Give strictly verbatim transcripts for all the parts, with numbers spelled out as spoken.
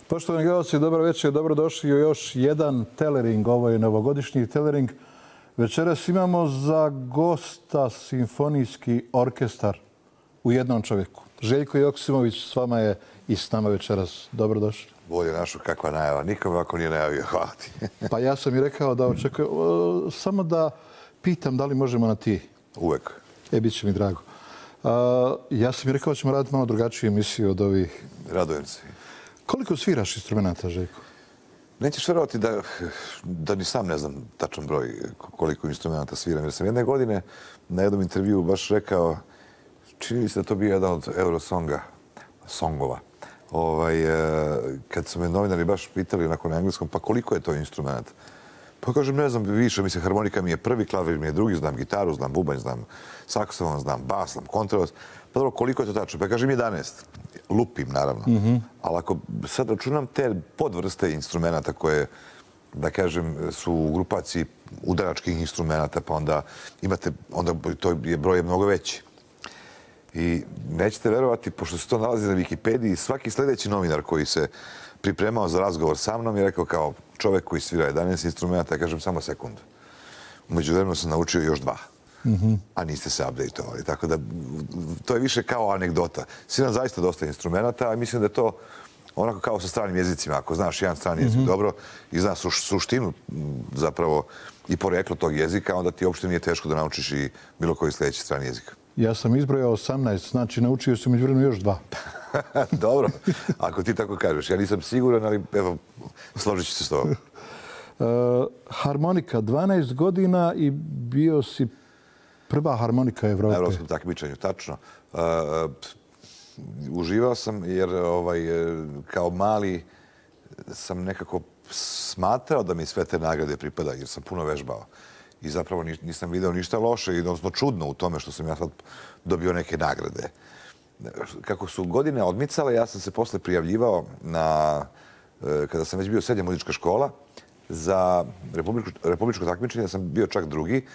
Poštovani gledalci, dobro večer, dobrodošli u još jedan telering. Ovo je novogodišnji telering. Večeras imamo za gosta simfonijski orkestar u jednom čovjeku. Željko Joksimović s vama je i s nama večeras. Dobrodošli. Bolje našu kakva najava. Nikom ovako nije najavio. Hvala ti. Pa ja sam i rekao da očekujem. Samo da pitam da li možemo na ti. Uvek. E, bit će mi drago. Ja sam i rekao da ćemo raditi malo drugačiju emisiju od ovih. Radujem se. Koliko sviraš instrumenta, Željko? Nećeš verovati da, da ni sam ne znam tačan broj koliko instrumenta sviram. Jer sam jedne godine na jednom intervjuu baš rekao, čini li se da to bio jedan od Eurosonga, songova. Ovaj, kad su me novinari baš pitali nakon engleskom, pa koliko je to instrumenta? Pa kažem, ne znam, više, mislim, harmonika mi je prvi, klavir mi je drugi, znam gitaru, znam bubanj, znam saksofon, znam bas, znam kontrabas. Pa dobro, koliko je to tačno? Pa kažem jedanaest. Lupim, naravno. Mm-hmm. Ali ako sad računam te podvrste instrumenta koje, da kažem, su u grupaciji udaračkih instrumenta, pa onda imate, onda to je broj je mnogo veći. I nećete verovati, pošto se to nalazi na Wikipediji, svaki sljedeći novinar koji se pripremao za razgovor sa mnom je rekao kao čovjek koji svira jedanaest instrumenta, ja kažem samo sekundu. Umeđu vremenu sam naučio još dva. Mm-hmm. A niste se update-ovali. Tako da to je više kao anegdota. Sviram zaista dosta instrumenta, a mislim da je to onako kao sa stranim jezicima. Ako znaš jedan strani jezik mm-hmm. dobro i znaš suštinu zapravo i poreklo tog jezika, onda ti uopšte nije teško da naučiš i bilo koji sljedeći strani jezik. Ja sam izbrojao osamnaest, znači naučio sam među vremenu još dva. Dobro, ako ti tako kažeš. Ja nisam siguran, ali evo, složit ću se s tobom. Uh, harmonika, dvanaest godina i bio si prva harmonika Evrope. Na evropskom takmičenju, tačno. Uh, uživao sam jer ovaj, kao mali sam nekako smatrao da mi sve te nagrade pripada jer sam puno vežbao. I zapravo nisam video ništa loše i odnosno čudno u tome što sam ja sad dobio neke nagrade. Kako su godine odmicale, ja sam se posle prijavljivao na, kada sam već bio srednja muzička škola, za republičko, republičko takmičenje sam bio čak drugi.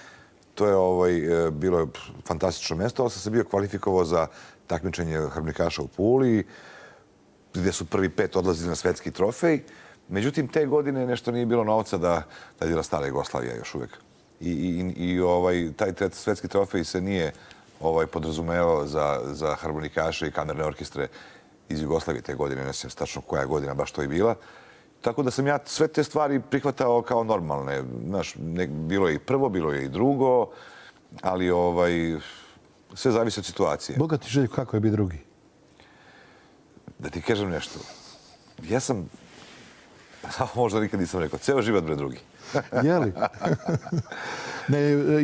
To je ovaj, bilo fantastično mjesto, ali sam se bio kvalifikovao za takmičenje harmonikaša u Puli, gdje su prvi pet odlazili na svetski trofej. Međutim, te godine nešto nije bilo novca da, da je bila stara Jugoslavija još uvijek. I, i, i ovaj, taj svetski trofej se nije ovaj, podrazumevao za, za harmonikaše i kamerne orkestre iz Jugoslavije te godine. Ne znam tačno koja godina baš to je bila. Tako da sam ja sve te stvari prihvatao kao normalne. Znaš, ne, bilo je i prvo, bilo je i drugo, ali ovaj, sve zavisi od situacije. Bogati Željko, kako je biti drugi? Da ti kažem nešto. Ja sam, možda nikad nisam rekao, ceo život bre drugi. Jeli? Ne,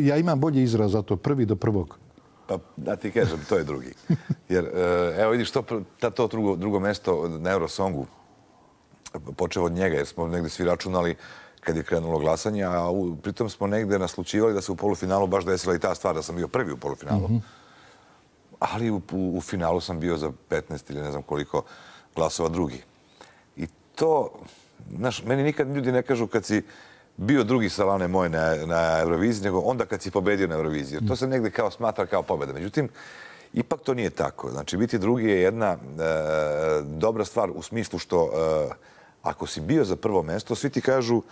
ja imam bolji izraz za to, prvi do prvog. Pa da ti kažem, to je drugi. Jer, evo vidiš, to, to drugo, drugo mesto na Eurosongu, počeo od njega, jer smo negdje svi računali kad je krenulo glasanje, a u, pritom smo negdje naslučivali da se u polufinalu baš desila i ta stvar, da sam bio prvi u polufinalu. Mm-hmm. Ali u, u, u finalu sam bio za petnaest ili ne znam koliko glasova drugi. I to, znaš, meni nikad ljudi ne kažu kad si bio drugi sa Lane moje na, na Euroviziji, nego onda kad si pobedio na Euroviziji. Jer to se negdje kao smatra kao pobjeda. Međutim, ipak to nije tako. Znači, biti drugi je jedna e, dobra stvar u smislu što e, ako si bio za prvo mjesto, svi ti kažu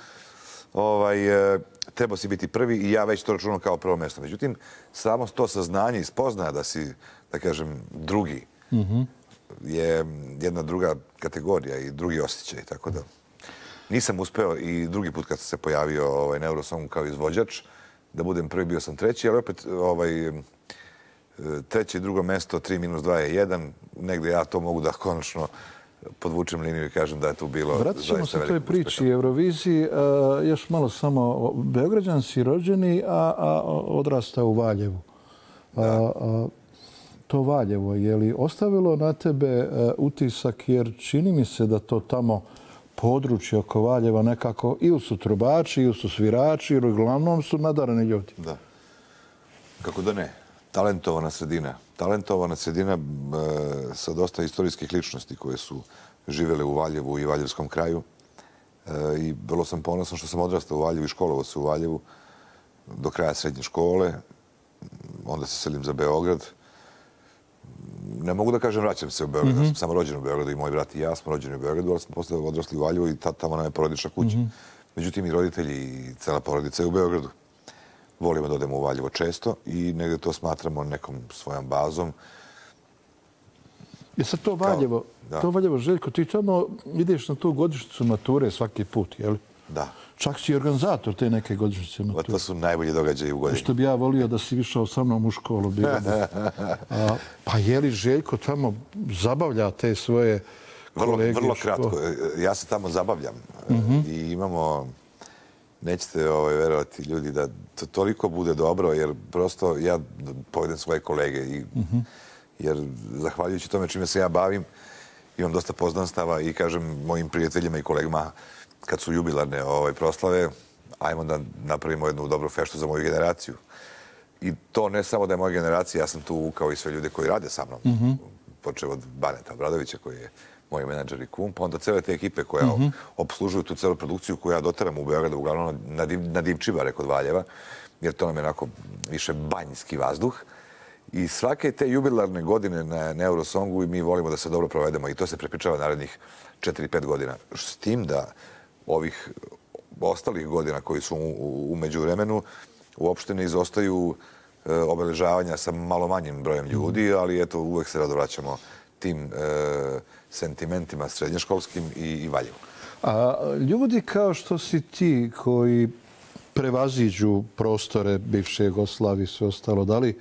ovaj, e, treba si biti prvi i ja već to računam kao prvo mjesto. Međutim, samo to saznanje i spoznaja da si, da kažem, drugi mm-hmm. je jedna druga kategorija i drugi osjećaj. Tako da nisam uspeo i drugi put kad sam se pojavio ovaj, na Eurosongu kao izvođač, da budem prvi, bio sam treći, ali opet ovaj, treće i drugo mesto, tri minus dva je jedan. Negdje ja to mogu da konačno podvučem liniju i kažem da je tu bilo vratit ćemo se toj priči Euroviziji. Uh, još malo samo, Beograđan si rođeni, a, a odrastao u Valjevu. Uh, uh, to Valjevo, je li ostavilo na tebe uh, utisak, jer čini mi se da to tamo područje oko Valjeva nekako, ili su trubači, ili su svirači, ili uglavnom su nadarani ljudi. Da. Kako da ne? Talentovana sredina. Talentovana sredina e, sa dosta istorijskih ličnosti koje su živjele u Valjevu i Valjevskom kraju. E, I vrlo sam ponosan što sam odrastao u Valjevu i školovao se u Valjevu do kraja srednje škole. Onda se selim za Beograd. ne mogu da kažem vraćam se u Beograd. Mm-hmm. Ja sam samo rođen u Beogradu i moj brat i ja smo rođeni u Beogradu, ali smo posle odrasli u Valjevu i tamo nam je porodična kuća. Mm-hmm. Međutim, i roditelji i cela porodica je u Beogradu. Volimo da odemo u Valjevo često i negdje to smatramo nekom svojom bazom. Je sad to Valjevo, Kao, to Valjevo, Željko, ti tamo ideš na tu godišnjicu mature svaki put, je li? Da. Čak si organizator te neke godišnjice mature. To su najbolji događaji u godini. Što bi ja volio da si išao sa mnom u školu. A, pa je li Željko tamo zabavlja te svoje kolege? Vrlo, vrlo kratko. Ja se tamo zabavljam. Mm-hmm. I imamo, nećete ovaj, verovati ljudi, da to toliko bude dobro, jer prosto ja povedem svoje kolege. I, mm-hmm. Jer zahvaljujući tome čime se ja bavim, imam dosta poznanstava i kažem mojim prijateljima i kolegama, kad su jubilarne ovaj, proslave, ajmo da napravimo jednu dobru feštu za moju generaciju. I to ne samo da je moja generacija, ja sam tu kao i sve ljude koji rade sa mnom. Mm-hmm. Počeo od Baneta Obradovića, koji je moj menadžer i kum, pa onda cele te ekipe koja mm-hmm. obslužuju tu celu produkciju koju ja doteram u Beogradu, uglavnom na, div, na Divčibare kod Valjeva, jer to nam je onako više banjski vazduh. I svake te jubilarne godine na, na Eurosongu mi volimo da se dobro provedemo i to se prepričava narednih četiri pet godina. S tim da ovih ostalih godina koji su u, u međuvremenu uopšte ne izostaju e, obeležavanja sa malo manjim brojem ljudi, ali eto uvek se rado vraćamo tim e, sentimentima srednjoškolskim i, i Valjevu. A ljudi kao što si ti koji prevaziđu prostore bivše Jugoslavije i sve ostalo, da li,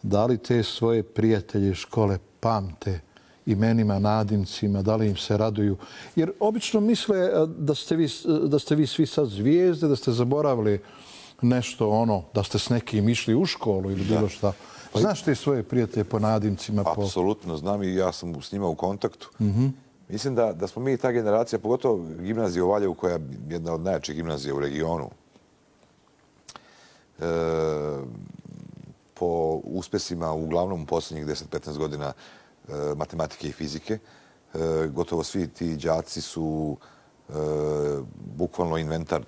da li te svoje prijatelje škole pamte imenima, nadimcima, da li im se raduju? Jer obično misle da ste vi, da ste vi svi sad zvijezde, da ste zaboravili nešto ono, da ste s nekim išli u školu ili bilo šta. Znaš te svoje prijatelje po nadimcima? Apsolutno znam i ja sam s njima u kontaktu. Mm-hmm. Mislim da, da smo mi ta generacija, pogotovo gimnazija u Valjevu, koja je jedna od najjačih gimnazija u regionu, e, po uspesima uglavnom u posljednjih deset petnaest godina e, matematike i fizike, e, gotovo svi ti đaci su e, bukvalno inventar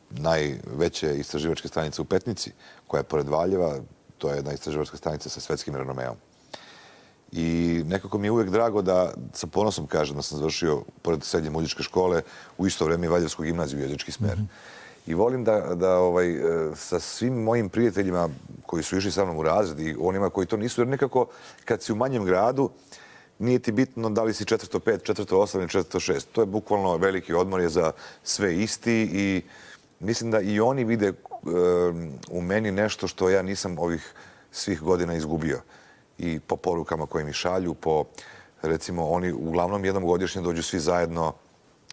najveće istraživačke stanice u Petnici, koja je pored Valjeva. To je jedna istraživačka stanica sa svetskim renomeom. I nekako mi je uvijek drago da, sa ponosom kažem, da sam završio pored srednje muzičke škole u isto vrijeme i Valjevsku gimnaziju, jezički smer. Mm-hmm. I volim da, da ovaj, sa svim mojim prijateljima koji su išli sa mnom u razred i onima koji to nisu, jer nekako kad si u manjem gradu, nije ti bitno da li si četvrsto pet, četvrsto osam ili četvrsto šest. To je bukvalno veliki odmor je za sve isti i mislim da i oni vide u meni nešto što ja nisam ovih svih godina izgubio. I po porukama koje mi šalju, po, recimo, oni uglavnom jednom godišnje dođu svi zajedno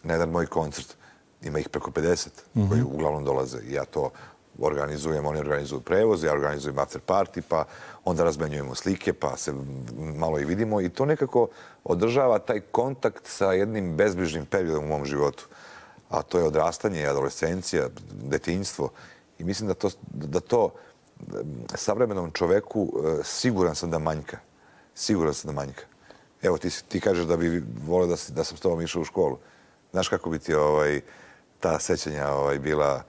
na jedan moj koncert. Ima ih preko pedeset mm-hmm. koji uglavnom dolaze. Ja to organizujem, oni organizuju prevoz, ja organizujem after party, pa onda razmenjujemo slike, pa se malo i vidimo. I to nekako održava taj kontakt sa jednim bezbrižnim periodom u mom životu. A to je odrastanje, adolescencija, detinjstvo. I mislim da to, da to savremenom čoveku siguran sam da manjka. Siguran sam da manjka. Evo, ti, ti kažeš da bi volio da, da sam s tobom išao u školu. Znaš kako bi ti ovaj, ta sećanja ovaj, bila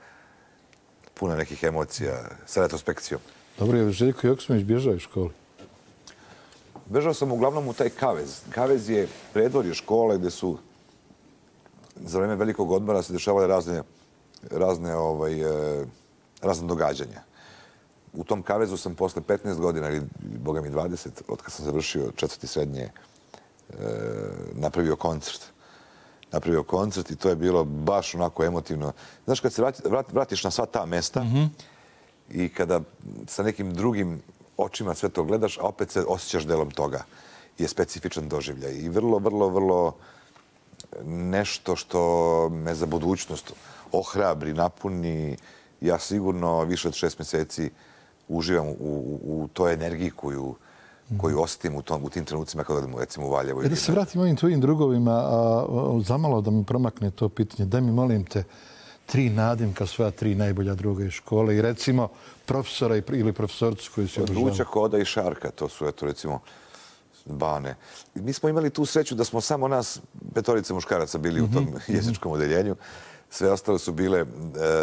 puna nekih emocija sa retrospekcijom? Dobro, je Željko Joksimović bježao iz škole? Bežao sam uglavnom u taj Kavez. Kavez je predvorje škole gdje su za vreme velikog odmora se dešavale razne, razne, ovaj, razne događanja. U tom Kavezu sam posle petnaest godina, ili boga mi dvadeset, od kad sam završio četvrti srednje, napravio koncert. Napravio koncert i to je bilo baš onako emotivno. Znaš, kad se vratiš na sva ta mesta mm-hmm. i kada sa nekim drugim očima sve to gledaš, a opet se osjećaš delom toga, je specifičan doživljaj. I vrlo, vrlo, vrlo nešto što me za budućnost ohrabri, napuni. Ja sigurno više od šest mjeseci uživam u, u, u toj energiji koju, koju osjetim u, tom, u tim trenucima kada odem recimo u Valjevo. Da se vratim ovim tvojim drugovima, a, a, zamalo da mi promakne to pitanje. Daj mi, molim te, tri nadimka svoja tri najbolja druga iz škole i recimo profesora ili profesorcu koji se obožavaju. Ručak, Oda i Šarka, to su eto recimo Bane. Mi smo imali tu sreću da smo samo nas, petorice muškaraca, bili mm-hmm. u tom jezičkom odeljenju. Sve ostale su bile e,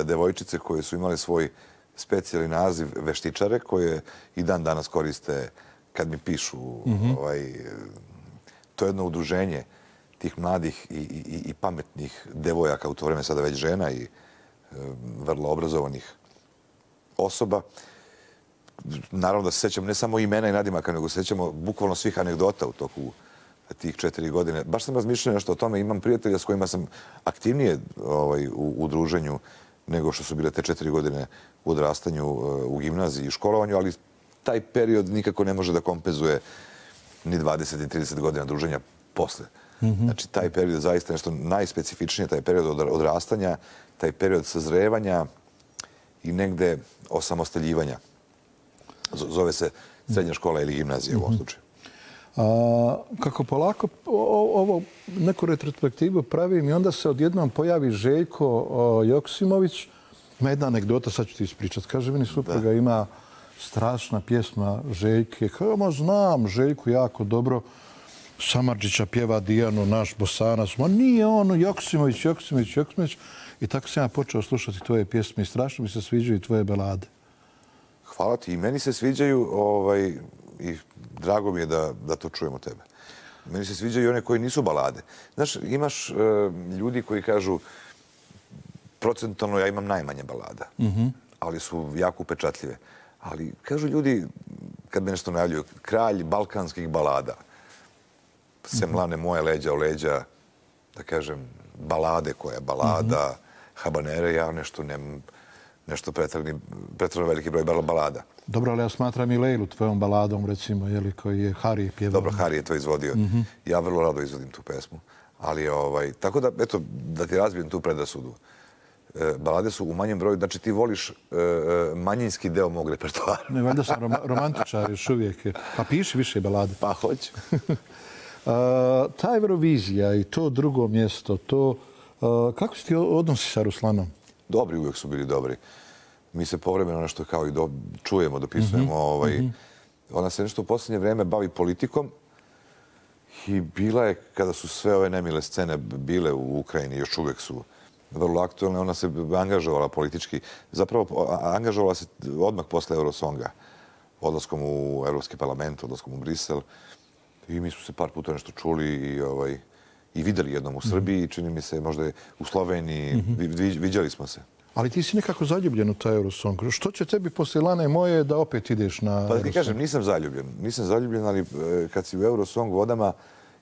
devojčice koje su imali svoj specijalni naziv veštičare, koje i dan danas koriste kad mi pišu, ovaj, to je jedno udruženje tih mladih i, i, i pametnih devojaka, u to vreme sada već žena i e, vrlo obrazovanih osoba. Naravno da se sećam ne samo imena i nadimaka, nego se sećamo bukvalno svih anegdota u toku tih četiri godine. Baš sam razmišljao nešto o tome. Imam prijatelja s kojima sam aktivnije ovaj, u, u druženju nego što su bile te četiri godine u odrastanju, u gimnaziji i školovanju, ali taj period nikako ne može da kompenzuje ni dvadeset i trideset godina druženja posle. Mm-hmm. Znači, taj period je zaista nešto najspecifičnije, taj period odrastanja, taj period sazrevanja i negde osamostaljivanja. Zove se srednja škola ili gimnazija u ovom slučaju. A, kako polako o, ovo neku retrospektivu pravim i onda se odjednom pojavi Željko o, Joksimović. Ima jedna anegdota, sad ću ti ispričati. Kaže, meni supruga ima strašna pjesma Željke. Kao, ma znam Željku jako dobro. Samardžića pjeva Dijanu, naš Bosanac. Ma nije ono Joksimović, Joksimović, Joksimović. I tako sam ja počeo slušati tvoje pjesme i strašno mi se sviđaju tvoje balade. Hvala ti. I meni se sviđaju ovaj, i drago mi je da, da to čujemo od tebe. Meni se sviđaju i one koji nisu balade. Znaš, imaš uh, ljudi koji kažu procentualno ja imam najmanje balada, mm-hmm. ali su jako upečatljive. Ali kažu ljudi, kad me nešto najavljuju, kralj balkanskih balada. Semlane moje leđa o leđa, da kažem, balade koja je balada, mm-hmm. habanere, ja nešto nemam, nešto pretrano veliki broj balada. Dobro, ali ja smatram i Lejlu tvojom baladom, recimo, jeli, koji je Hari pjevao. Dobro, Hari je to izvodio. Mm-hmm. Ja vrlo rado izvodim tu pesmu. Ali, ovaj, tako da, eto, da ti razbijem tu predrasudu. E, balade su u manjem broju, znači ti voliš e, manjinski deo mog repertoara. Ne, valjda sam rom romantičar još uvijek. Pa piši više balade. Pa hoću. A, ta Eurovizija i to drugo mjesto, to, a, kako si ti odnosi sa Ruslanom? Dobri, uvijek su bili dobri. Mi se povremeno nešto kao i do, čujemo, dopisujemo. Mm-hmm. Ovaj, mm-hmm. Ona se nešto u posljednje vreme bavi politikom i bila je, kada su sve ove nemile scene bile u Ukrajini, još uvijek su vrlo aktualne, ona se angažovala politički. Zapravo, angažovala se odmah posle Eurosonga, odlaskom u Evropski parlament, odlaskom u Brisel. I mi smo se par puta nešto čuli i, ovaj, i videli jednom u Srbiji, mm-hmm. čini mi se možda u Sloveniji, mm-hmm. vi, viđali smo se. Ali ti si nekako zaljubljen u taj Eurosong. Što će tebi posle Lane moje da opet ideš na Eurosong? Pa ti kažem, nisam zaljubljen. Nisam zaljubljen, ali kad si u Eurosong vodama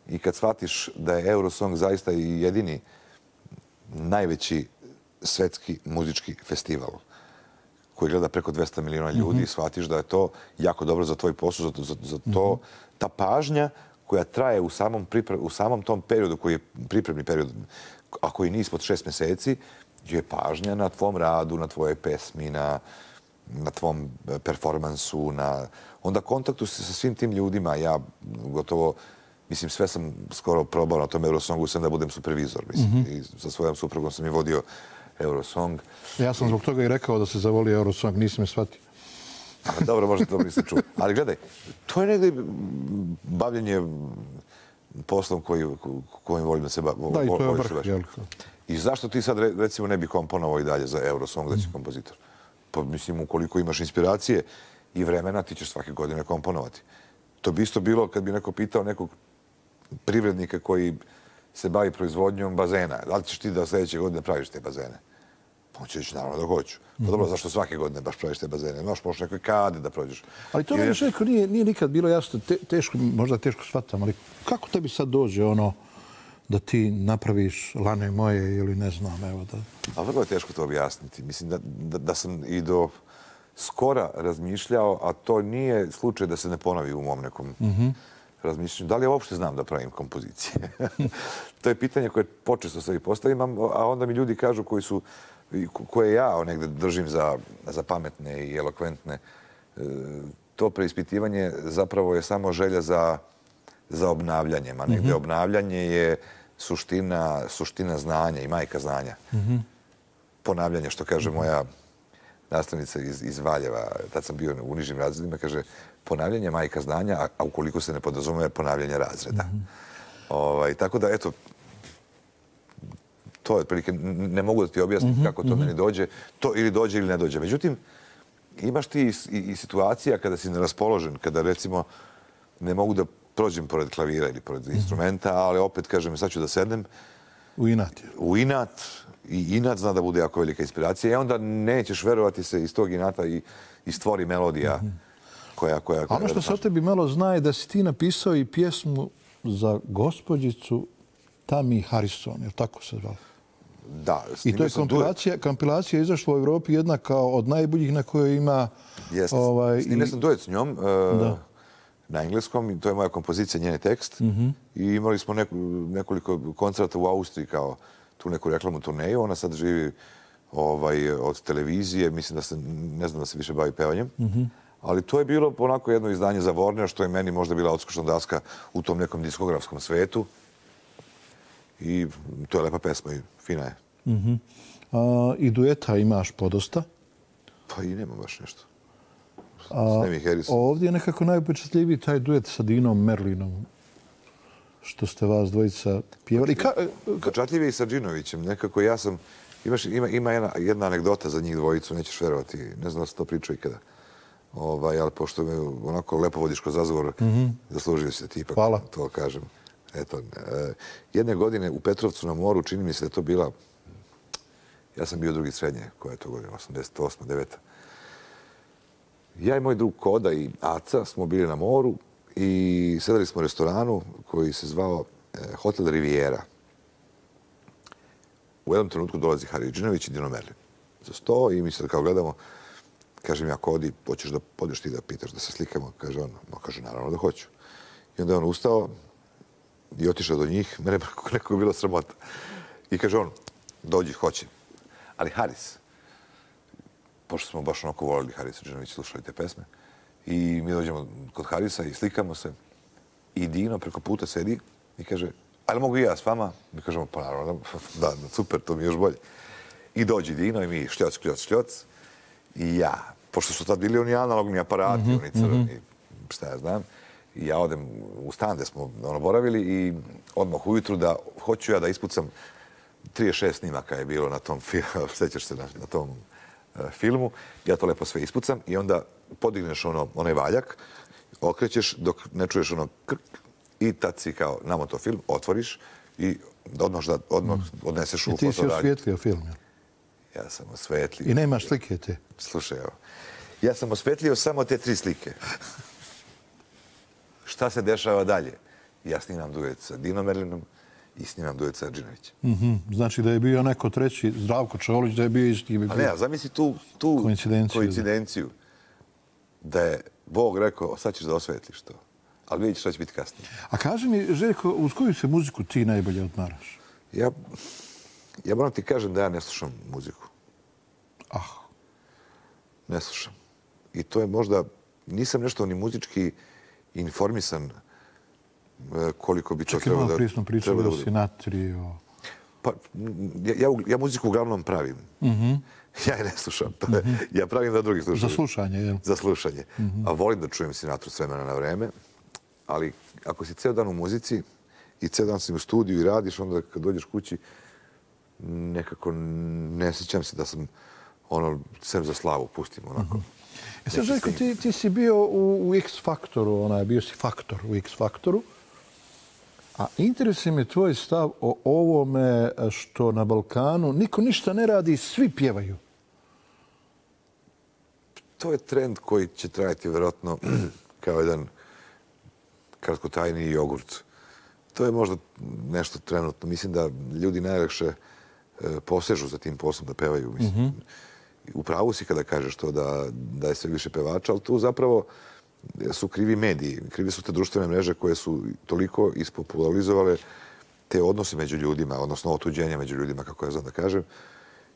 i kad shvatiš da je Eurosong zaista i jedini najveći svetski muzički festival koji gleda preko dvesta miliona ljudi, mm-hmm. shvatiš da je to jako dobro za tvoj posao, za, za, za to, mm-hmm. ta pažnja koja traje u samom, pripre, u samom tom periodu, koji je pripremni period, a koji nije ispod šest mjeseci, je pažnja na tvom radu, na tvojoj pesmi, na, na tvom performansu, na onda kontaktu sa svim tim ljudima. Ja gotovo, mislim, sve sam skoro probao na tom Eurosongu, sam da budem supervizor. Mislim, mm-hmm. i sa svojom suprugom sam i vodio Eurosong. Ja sam zbog toga i rekao da se zavoli Eurosong, nisam me shvatio. Dobro, možda to nisam čuo. Ali gledaj, to je negdje bavljenje poslom koji, kojim volim da se bavim. Da, i to je vrh, jel? I zašto ti sad, recimo, ne bi komponovao i dalje za Eurosong, da si kompozitor? Pa, mislim, ukoliko imaš inspiracije i vremena, ti ćeš svake godine komponovati. To bi isto bilo kad bi neko pitao nekog privrednika koji se bavi proizvodnjom bazena. Da li ćeš ti da sljedeće godine praviš te bazene? Pa on će reći, naravno da hoću. Pa dobro, zašto svake godine baš praviš te bazene? Možeš možeš nekoj kade da prođeš. Ali to meni Željko nije, nije nikad bilo jasno, te, teško, možda teško shvatam, ali kako tebi sad dođe ono da ti napraviš Lane moje ili ne znam, evo da... A vrlo je teško to objasniti. Mislim da, da, da sam i do skora razmišljao, a to nije slučaj da se ne ponovi u mom nekom mm-hmm. razmišljanju. Da li ja uopšte znam da pravim kompozicije? To je pitanje koje počesto se i postavim, a onda mi ljudi kažu koji su, koje ja negde držim za, za pametne i elokventne, to preispitivanje zapravo je samo želja za, za obnavljanjem, a negde mm-hmm. obnavljanje je suština, suština znanja i majka znanja. Mm-hmm. Ponavljanje, što kaže mm-hmm. moja nastavnica iz, iz Valjeva, tad sam bio u nižim razredima, kaže ponavljanje majka znanja, a, a ukoliko se ne podrazume, ponavljanje razreda. Mm-hmm. Ovaj, tako da, eto, to je otprilike, ne mogu da ti objasnim mm-hmm. kako to mm-hmm. meni dođe, to ili dođe ili ne dođe. Međutim, imaš ti i, i, i situacija kada si neraspoložen, kada recimo ne mogu da prođem pored klavira ili pored instrumenta, ali opet, kažem, sad ću da sednem. U inat. U inat. I inat zna da bude jako velika inspiracija. I onda nećeš verovati se iz tog inata i, i stvori melodija koja... koja, koja ono što se o tebi malo zna je da si ti napisao i pjesmu za gospođicu Tammy Harrison, je li tako se zvala? Da. I to je kompilacija, kompilacija izašla u Evropi jedna kao od najboljih na kojoj ima... Jeste. Ovaj, Snimio sam duet s njom uh, na engleskom i to je moja kompozicija, njen tekst. Mm-hmm. I imali smo neku, nekoliko koncerta u Austriji kao tu neku reklamnu turneju. Ona sad živi ovaj, od televizije. Mislim da se, ne znam da se više bavi pevanjem. Mm-hmm. Ali to je bilo onako jedno izdanje za Warner, što je meni možda bila odskočna daska u tom nekom diskografskom svetu. I to je lepa pesma i fina je. Mm-hmm. A, I dueta imaš podosta? Pa i nema baš nešto. A, ovdje je nekako najupečatljiviji taj duet sa Dinom Merlinom, što ste vas dvojica pjevali. Ka, ka... Čatljiv je i sa Džinovićem. Nekako ja sam... Imaš, ima ima jedna, jedna anegdota za njih dvojicu, nećeš verovati. Ne znam da se to pričao ikada. Ovaj, ali pošto me onako lepo vodiš kroz razgovor, mm-hmm. zaslužio si da ti ipak Hvala. To kažem. Eto, e, jedne godine u Petrovcu na moru, čini mi se da je to bila... Ja sam bio drugi srednje, koja je to godina, osamdeset osma, deveta Ja i moj drug Koda i Aca smo bili na moru i sedali smo u restoranu koji se zvao e, Hotel Riviera. U jednom trenutku dolazi Hari Džinović i Dino Merlin za sto i mi se kao gledamo. Kažem ja, Kodi, hoćeš da podeš ti da pitaš, da se slikamo? Kaže on, no, kaže, naravno da hoću. I onda je on ustao i otišao do njih. Mene nekako je bilo sramota. I kaže on, dođi, hoće. Ali Haris, pošto smo baš onako volili Harisa Džinovića, slušali te pesme, i mi dođemo kod Harisa i slikamo se. I Dino preko puta sedi i kaže, ali mogu i ja s vama? Mi kažemo, pa naravno, da, super, to mi je još bolje. I dođi Dino i mi šljoc, šljoc, šljoc. I ja, pošto su tad bili oni analogni aparati, mm-hmm, oni crveni, mm-hmm. šta ja znam, i ja odem u stan gde smo ono boravili i odmah ujutru da hoću ja da ispucam trideset šest snimaka je bilo na tom filmu, sjećaš se na, na tom uh, filmu, ja to lepo sve ispucam i onda podigneš ono, onaj valjak, okrećeš dok ne čuješ ono krk i tad si kao namoto film, otvoriš i odmah, da, odmah mm. odneseš u fotoradnju. I ti si osvijetlio film, ja? Ja sam osvetlio. I nemaš slike te? Slušaj, evo. Ja sam osvetlio samo te tri slike. Šta se dešava dalje? Ja snimam duet sa Dino Merlinom i snimam duet sa Džinovićem. Mm-hmm. Znači da je bio neko treći, Zdravko Čolić, da je bio isti. A ne, zamisli tu, tu koincidenciju. koincidenciju. Da je Bog rekao, sad ćeš da osvetliš to. Ali vidite šta će biti kasnije. A kaži mi, Željko, uz koju se muziku ti najbolje odmaraš? Ja... Ja moram ti kažem da ja ne slušam muziku. Ah. Ne slušam. I to je možda... Nisam nešto ni muzički informisan koliko bi to trebalo da... Čekaj, malo prije smo pričali o Sinatri, o... Pa, ja, ja, ja muziku uglavnom pravim. Mm-hmm. Ja je ne slušam. To je, mm-hmm. Ja pravim da drugi slušaju. Za slušanje, jel? Za slušanje. Mm-hmm. A volim da čujem Sinatru s vremena na vreme. Ali ako si ceo dan u muzici i ceo dan si u studiju i radiš, onda kad dođeš kući, nekako ne sjećam se da sam ono, sem za slavu, pustim onako. E sad, Željko, ti, ti si bio u, u X-Faktoru, onaj, bio si faktor u X-Faktoru, a interesuje me tvoj stav o ovome što na Balkanu niko ništa ne radi, svi pjevaju. To je trend koji će trajati vjerojatno kao jedan kratkotajni jogurt. To je možda nešto trenutno. Mislim da ljudi najlakše posežu za tim poslom da pevaju. Mislim. Mm-hmm. U pravu si kada kažeš to da, da je sve više pevača, ali tu zapravo su krivi mediji. Krivi su te društvene mreže koje su toliko ispopularizovale te odnose među ljudima, odnosno otuđenja među ljudima, kako ja znam da kažem.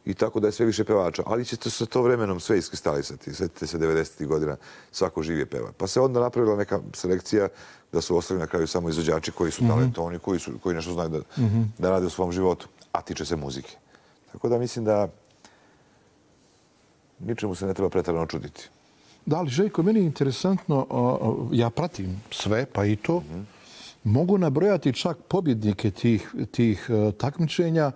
I tako da je sve više pevača. Ali će se to vremenom sve iskristalisati. Sjetite se devedesetih godina, svako živije peva. Pa se onda napravila neka selekcija da su ostali na kraju samo izvođači koji su mm-hmm. talentovani, koji, su, koji nešto znaju da, mm-hmm. da rade u svom životu, a tiče se muzike. Tako da mislim da ničemu se ne treba pretarano čuditi. Da, ali Željko, meni je interesantno, ja pratim sve, pa i to. Mm-hmm. Mogu nabrojati čak pobjednike tih, tih takmičenja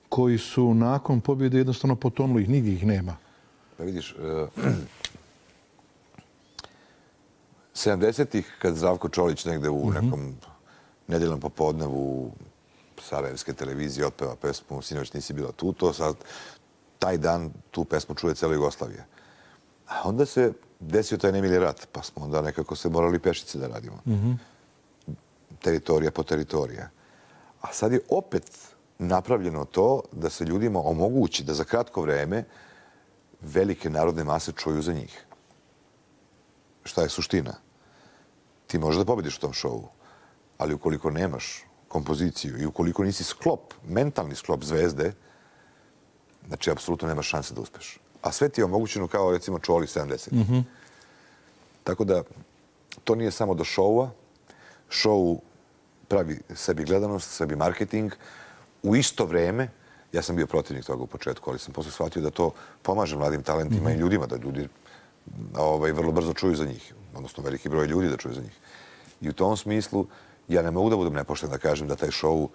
koji su nakon pobjede jednostavno potonuli, ih nigdje ih nema. Pa vidiš, sedamdesetih, kad Zdravko Čolić negde u nekom nedeljnom popodnevu sarajevske televizije otpeva pesmu Sinoć nisi bila tu, to sad taj dan tu pesmu čuje cijela Jugoslavija. A onda se desio taj nemili rat, pa smo onda nekako se morali pešice da radimo. Teritorija po teritorija. A sad je opet napravljeno to da se ljudima omogući da za kratko vreme velike narodne mase čuju za njih. Šta je suština? Ti možeš da pobediš u tom šovu, ali ukoliko nemaš kompoziciju i ukoliko nisi sklop, mentalni sklop zvezde, znači, apsolutno nemaš šanse da uspeš. A sve ti je omogućeno kao, recimo, Čoli sedamdesetih. Mm-hmm. Tako da, to nije samo do šoua. Šou pravi sebi gledanost, sebi marketing. U isto vreme, ja sam bio protivnik toga u početku, ali sam posle shvatio da to pomaže mladim talentima mm-hmm. i ljudima, da ljudi ovaj, vrlo brzo čuju za njih. Odnosno, veliki broj ljudi da čuju za njih. I u tom smislu, ja ne mogu da budem nepošten da kažem da taj šou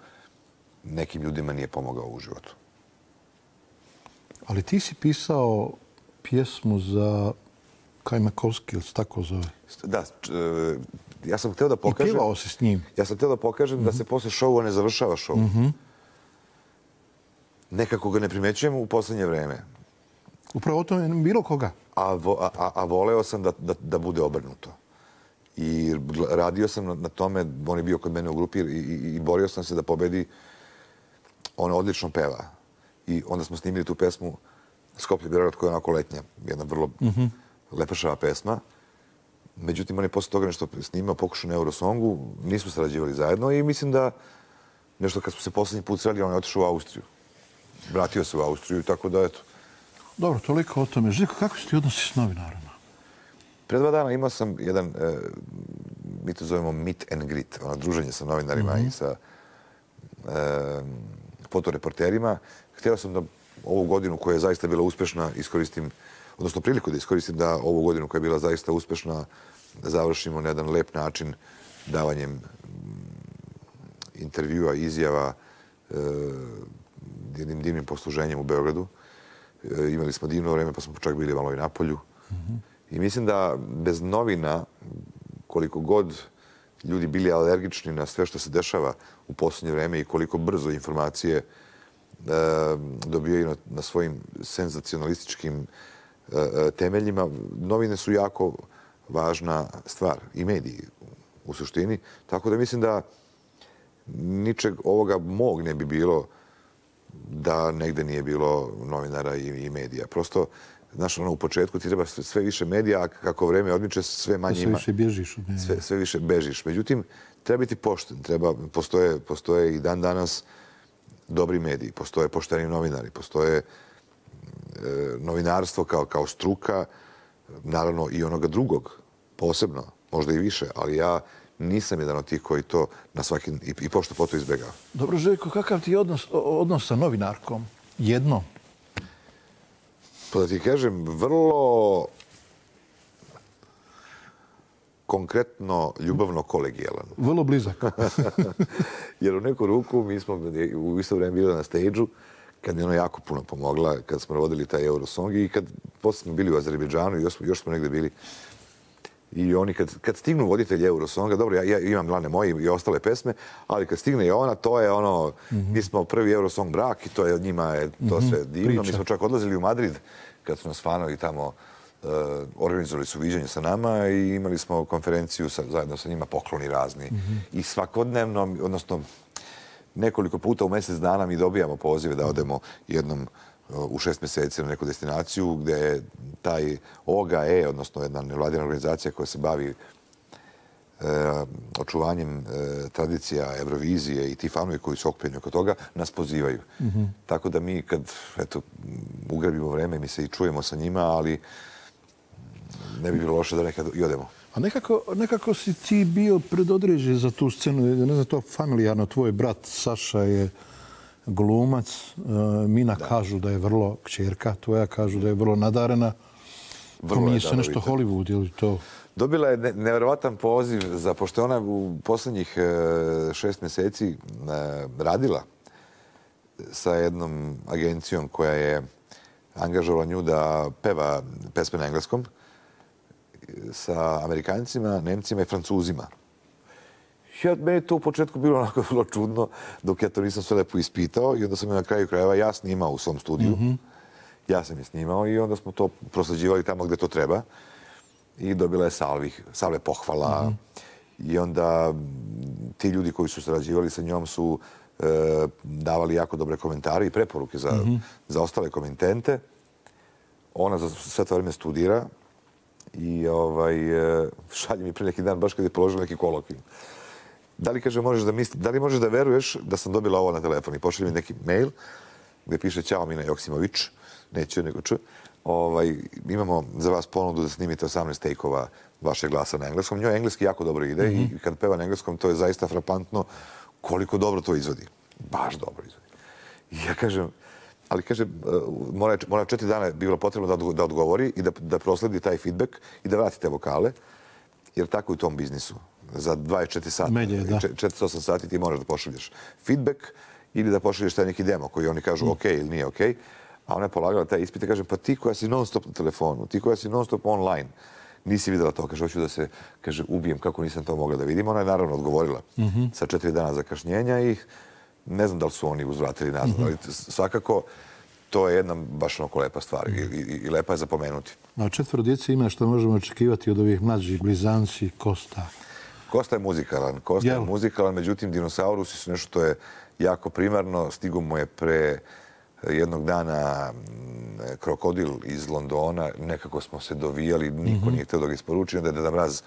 nekim ljudima nije pomogao u životu. Ali ti si pisao pjesmu za Kajmakovski, ili se tako zove? Da, ja sam htio da pokažem... I pjevao si s njim. Ja sam htio da pokažem mm-hmm. da se posle šoua ne završava šou. Mm-hmm. Nekako ga ne primećujem u poslednje vreme. Upravo o tome bilo koga? A, a, a voleo sam da, da, da bude obrnuto. I radio sam na, na tome, on je bio kod mene u grupi i, i, i borio sam se da pobedi. On odlično peva. I onda smo snimili tu pesmu Skoplje Beograd, koja je onako letnja. Jedna vrlo mm-hmm. lepašava pesma. Međutim, on je posle toga nešto snimao, pokušao na Eurosongu. Nismo sarađivali zajedno i mislim da nešto kad smo se poslednji put sreli, on je otišao u Austriju. Vratio se u Austriju, tako da eto. Dobro, toliko o tome. Željko, kako se ti odnosi s novinarima? Pre dva dana imao sam jedan, e, mi to zovemo meet and greet, ono druženje sa novinarima mm-hmm. i sa e, fotoreporterima. Htio sam da ovu godinu koja je zaista bila uspešna iskoristim, odnosno priliku da iskoristim da ovu godinu koja je bila zaista uspešna završimo na jedan lep način davanjem intervjua, izjava, e, jednim divnim posluženjem u Beogradu. E, imali smo divno vreme, pa smo čak bili malo i na polju. Mm-hmm. I mislim da bez novina, koliko god ljudi bili alergični na sve što se dešava u posljednje vreme i koliko brzo informacije e, dobijaju na, na svojim senzacionalističkim e, temeljima, novine su jako važna stvar i mediji u suštini. Tako da mislim da ničeg ovoga mog ne bi bilo da negde nije bilo novinara i, i medija. Prosto, znaš, ono, u početku ti treba sve više medija, a kako vreme odmiče, sve manje ima. Sve više bježiš. Sve, sve više bežiš. Međutim, treba biti pošten. Treba, postoje, postoje i dan danas dobri mediji, postoje pošteni novinari, postoje e, novinarstvo kao, kao struka, naravno i onoga drugog, posebno, možda i više, ali ja nisam jedan od tih koji to na svaki i, i pošto poto izbjegao. Dobro, Željko, kakav ti je odnos, odnos sa novinarkom? Jedno? Pa da ti kažem, vrlo konkretno, ljubavno, kolegijalan. Vrlo blizak. Jer u neku ruku mi smo u isto vreme bili na stage-u, kad mi je ona jako puno pomogla, kad smo vodili taj Eurosong i kad posle smo bili u Azerbejdžanu i još, još smo negde bili. I oni kad, kad stignu voditelji Eurosonga, dobro, ja, ja imam Lane moje i ostale pesme, ali kad stigne i ona, to je ono, mm-hmm. mi smo prvi Eurosong brak i to je od njima je to mm-hmm. sve divno. Priča. Mi smo čak odlazili u Madrid kad su nas fanovi tamo uh, organizovali su viđanje sa nama i imali smo konferenciju sa, zajedno sa njima, pokloni razni. Mm-hmm. I svakodnevno, odnosno nekoliko puta u mjesec dana mi dobijamo pozive da odemo jednom u šest mjeseci na neku destinaciju gdje je taj O G A E, odnosno jedna nevladina organizacija koja se bavi e, očuvanjem e, tradicija Eurovizije i ti fanovi koji su okupljeni oko toga, nas pozivaju. Mm-hmm. Tako da mi kad eto, ugrebimo vreme, mi se i čujemo sa njima, ali ne bi bilo loše da nekad i odemo. A nekako, nekako si ti bio predodređen za tu scenu, ne znam, to familijarno, tvoj brat Saša je glumac, Mina da. Kažu da je vrlo kćerka, tvoja kažu da je vrlo nadarena. Vrlo nije se nešto Hollywood ili to? Dobila je ne, nevjerovatan poziv za, pošto ona u posljednjih šest mjeseci radila sa jednom agencijom koja je angažovala nju da peva pesme na engleskom. sa Amerikancima, Nemcima i Francuzima. Ja, meni je to u početku bilo onako vrlo čudno, dok ja to nisam sve lepo ispitao i onda sam je na kraju krajeva ja snimao u svom studiju. Ja sam je snimao i onda smo to prosleđivali tamo gde to treba. I dobila je salvi, salve pohvala. I onda ti ljudi koji su sarađivali sa njom su e, davali jako dobre komentare i preporuke za, za ostale komitente. Ona za sve to vreme studira i ovaj, šalje mi pre neki dan, baš kad je položila neki kolokvijum. Da li, kaže, možeš da misli, da li možeš da veruješ da sam dobila ovo na telefon? I pošalje mi neki mail gde piše Ćao Mina Joksimović, neću nego ču. Ovaj, imamo za vas ponudu da snimite osamnaest take-ova vašeg glasa na engleskom. Njoj engleski jako dobro ide mm-hmm. i kad peva na engleskom to je zaista frapantno koliko dobro to izvodi. Baš dobro izvodi. I ja kažem, ali kaže, mora, mora četiri dana je bilo potrebno da, da odgovori i da, da prosledi taj feedback i da vrati te vokale, jer tako je u tom biznisu. Za dvadeset četiri sata, Medije, da. četrdeset osam sati ti moraš da pošalješ feedback ili da pošalješ taj neki demo koji oni kažu mm. ok ili nije ok. A ona je polagala taj ispit i kaže, pa ti koja si non stop na telefonu, ti koja si non stop online, nisi videla to. Kaže, hoću da se, kaže, ubijem kako nisam to mogla da vidim. Ona je naravno odgovorila mm-hmm. sa četiri dana zakašnjenja i ne znam da li su oni uzvratili nazad, mm-hmm. ali svakako to je jedna baš onako lepa stvar i, i, i lepa je za pomenuti. A četvoro djece ima što možemo očekivati od ovih mlađih, blizanci, Kosta. Kosta je muzikalan. Kosta Jel? je muzikalan, međutim, dinosaurusi su nešto što je jako primarno. Stigo mu je pre jednog dana krokodil iz Londona. Nekako smo se dovijali, niko mm-hmm. nije htio da ga isporuči. Onda je Deda Mraz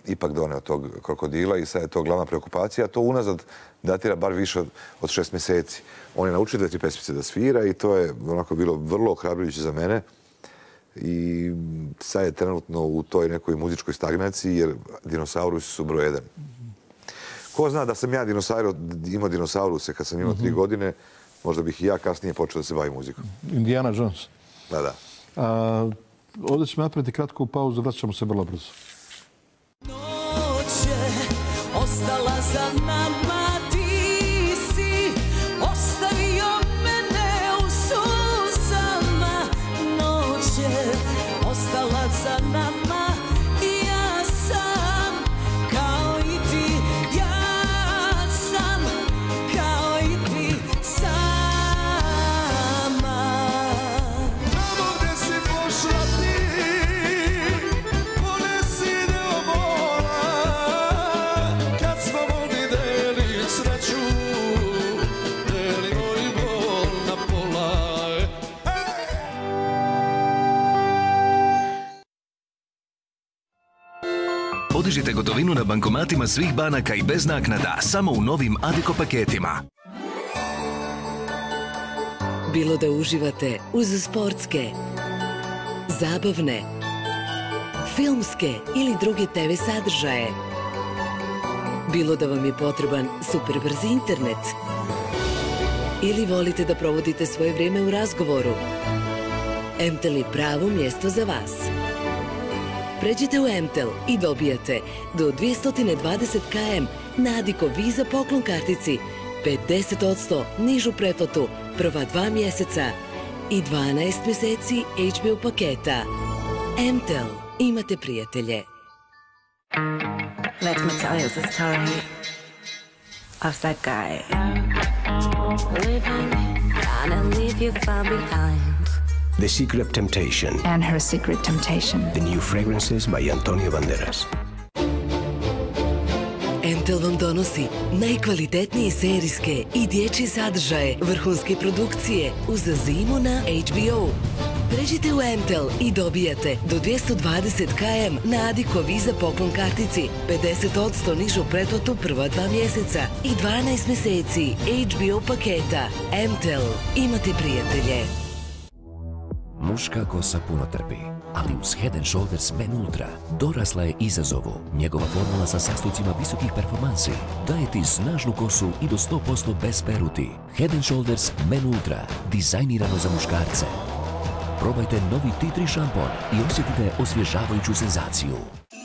ipak doneo tog krokodila i sad je to glavna preokupacija. A to unazad datira bar više od, od šest mjeseci. On je naučio dve, tri pesmice da svira i to je onako bilo vrlo ohrabrujuće za mene. I sad je trenutno u toj nekoj muzičkoj stagnaciji jer dinosaurusi su broj jedan. Ko zna da sam ja dinosauro, imao dinosauruse kad sam imao tri godine, možda bih i ja kasnije počeo da se bavim muzikom. Indiana Jones. Da, da. A, ovdje ćemo napraviti kratku pauzu, vraćamo se vrlo brzo. Noć je ostala za nama, ti si ostavio mene u suzama. Noć je ostala za nama i ja sam kao i ti, ja sam kao i ti sama. Tamo gde si pošla ti, ponesi deo mola, kad smo mogli delit sreću, delimo i bol na pola. Podižite gotovinu na bankomatima svih banaka i bez naknada, samo u novim Adiko paketima. Bilo da uživate uz sportske, zabavne, filmske ili druge te ve sadržaje. Bilo da vam je potreban superbrzi internet ili volite da provodite svoje vrijeme u razgovoru, em te el je pravo mjesto za vas. Pređite u em te el i dobijate do dvjesto dvadeset kilometara na Adiko Visa poklon kartici, pedeset posto nižu pretplatu prva dva mjeseca i dvanaest mjeseci hač be o paketa. em te el. Imate prijatelje. Let me tell you the story of that guy. Living and leave you far behind. The Secret Temptation. And Her Secret Temptation. The new fragrances by Antonio Banderas. em te el vam donosi najkvalitetnije serijske i dječje sadržaje, vrhunske produkcije uz zimu na hač be o. Pređite u em te el i dobijate do dvjesto dvadeset kilometara na Adiko Visa poklon kartici, pedeset posto nižu pretplatu prva dva mjeseca i dvanaest mjeseci hač be o paketa. em te el. Imate prijatelje. Muška kosa puno trpi, ali uz Head and Shoulders Men Ultra dorasla je izazovu. Njegova formula sa sastojcima visokih performansi daje ti snažnu kosu i do sto posto bez peruti. Head and Shoulders Men Ultra, dizajnirano za muškarce. Probajte novi ti tri šampon i osjetite osvježavajuću senzaciju.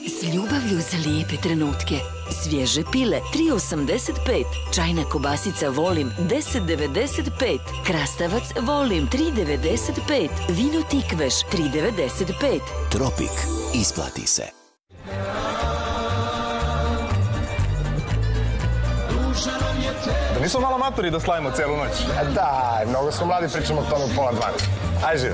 S ljubavlju za lijepe trenutke. Svježe pile tri osamdeset pet. Čajna kobasica Volim deset devedeset pet. Krastavac Volim tri devedeset pet. Vino Tikveš tri devedeset pet. Tropik. Isplati se. Da nismo malo matori da slavimo celu noć? Da, mnogo smo mladi, pričamo o tome u pola dvanaest. Aj živ.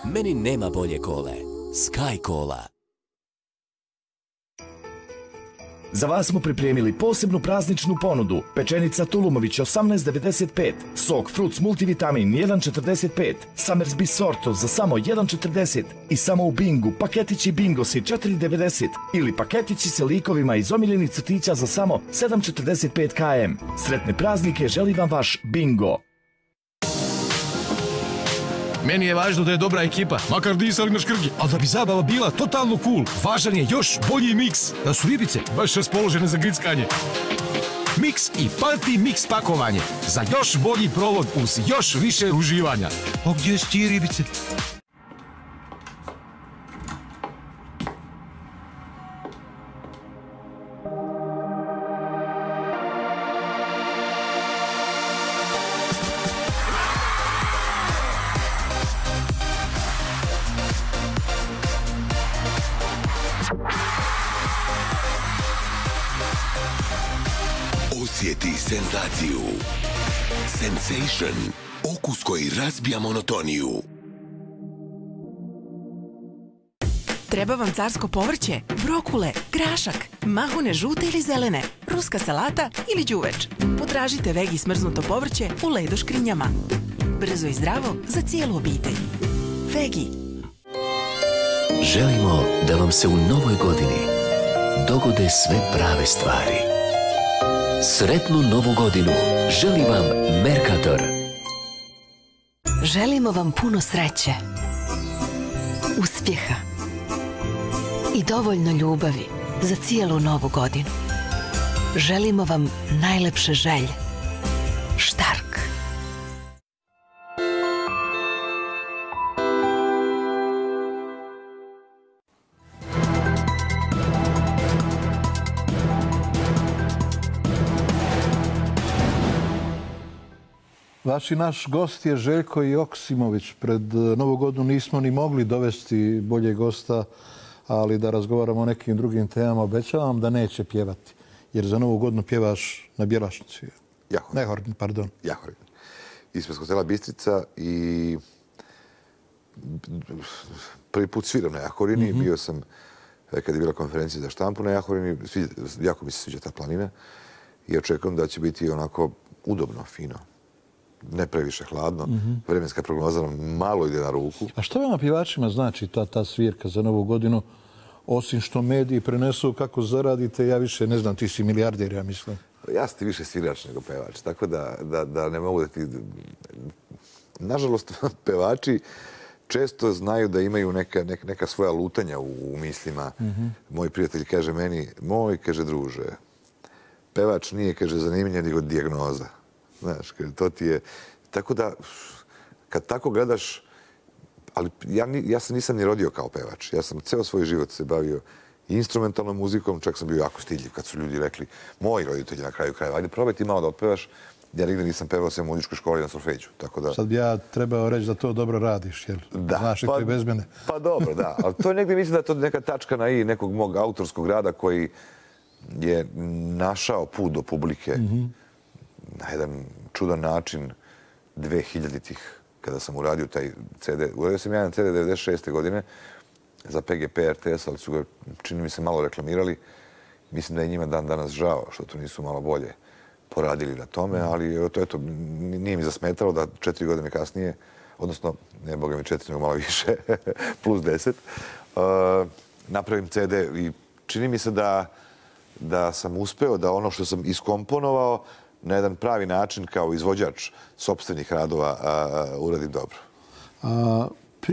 Meni nema bolje kole. Sky Cola. Za vas smo pripremili posebnu prazničnu ponudu. Pečenica Tulumović osamnaest devedeset pet, sok Fruits Multivitamin jedan četrdeset pet, Summersby Sorto za samo jedan četrdeset i samo u Bingu paketići Bingosi četiri devedeset ili paketići sa likovima iz omiljenih crtića za samo sedam četrdeset pet kilometara. Sretne praznike želi vam vaš Bingo. Meni je važno da je dobra ekipa, makar disali na škrgi, ali da bi zabava bila totalno cool. Važan je još bolji miks, da su ribice baš raspoložene za grickanje. Miks i Party Mix pakovanje, za još bolji provod uz još više uživanja. A gdje su ti ribice? Osjeti senzaciju. Sensation. Okus koji razbija monotoniju. Treba vam carsko povrće, brokule, grašak, mahune žute ili zelene, ruska salata ili đuveč. Potražite Vegi smrznuto povrće u Ledo škrinjama. Brzo i zdravo za cijelu obitelj. Vegi. Želimo da vam se u novoj godini dogode sve prave stvari. Sretnu novu godinu želi vam Mercator. Želimo vam puno sreće, uspjeha i dovoljno ljubavi za cijelu novu godinu. Želimo vam najlepše želje. Štark. Vaš i naš gost je Željko Joksimović. Pred Novu godinu nismo ni mogli dovesti bolje gosta, ali da razgovaramo o nekim drugim temama. Obećavam da neće pjevati, jer za Novu godinu pjevaš na Bjelašnici. Jahorin. Ne Horn, pardon. Jahorin. Ispred hotela Bistrica i prvi put sviram na Jahorini. Mm-hmm. Bio sam kad je bila konferencija za štampu na Jahorini. Jako mi se sviđa ta planina i očekujem da će biti onako udobno, fino. Ne previše hladno. Mm-hmm. Vremenska prognoza nam malo ide na ruku. A što vama pjevačima znači ta, ta svirka za Novu godinu? Osim što mediji prenesu kako zaradite, ja više ne znam, ti si milijarder, ja mislim. Ja sam ti više svirač nego pevač, tako da, da, da ne mogu da ti... Nažalost, pevači često znaju da imaju neka, neka, neka svoja lutanja u, u mislima. Mm-hmm. Moj prijatelj kaže meni, moj, kaže druže, pevač nije, kaže, zanimljenje nego dijagnoza. Znaš, to ti je... Tako da, kad tako gledaš... Ali ja, ja se nisam ni rodio kao pevač. Ja sam ceo svoj život se bavio instrumentalnom muzikom, čak sam bio jako stidljiv kad su ljudi rekli, moji roditelji na kraju krajeva, ajde probaj ti malo da otpevaš. Ja nigde nisam pevao sve u muzičkoj školi na solfeđu. Tako da... Sad bi ja trebao reći da to dobro radiš, jel? Da. Znaš i pa, koji bez mene. Pa dobro, da. Ali to je negdje, mislim da je to neka tačka na i nekog mog autorskog rada koji je našao put do publike. Mm-hmm. Na jedan čudan način dvehiljaditih kada sam uradio taj ce de. Uradio sam jedan ce de devedeset šeste godine za P G P R T S, ali su ga, čini mi se, malo reklamirali. Mislim da je njima dan danas žao što to nisu malo bolje poradili na tome, ali to, eto, nije mi zasmetalo da četiri godine kasnije, odnosno, ne boga mi četiri, nego malo više, plus deset, uh, napravim ce de i čini mi se da, da sam uspeo da ono što sam iskomponovao na jedan pravi način kao izvođač sopstvenih radova a, uradim dobro. A,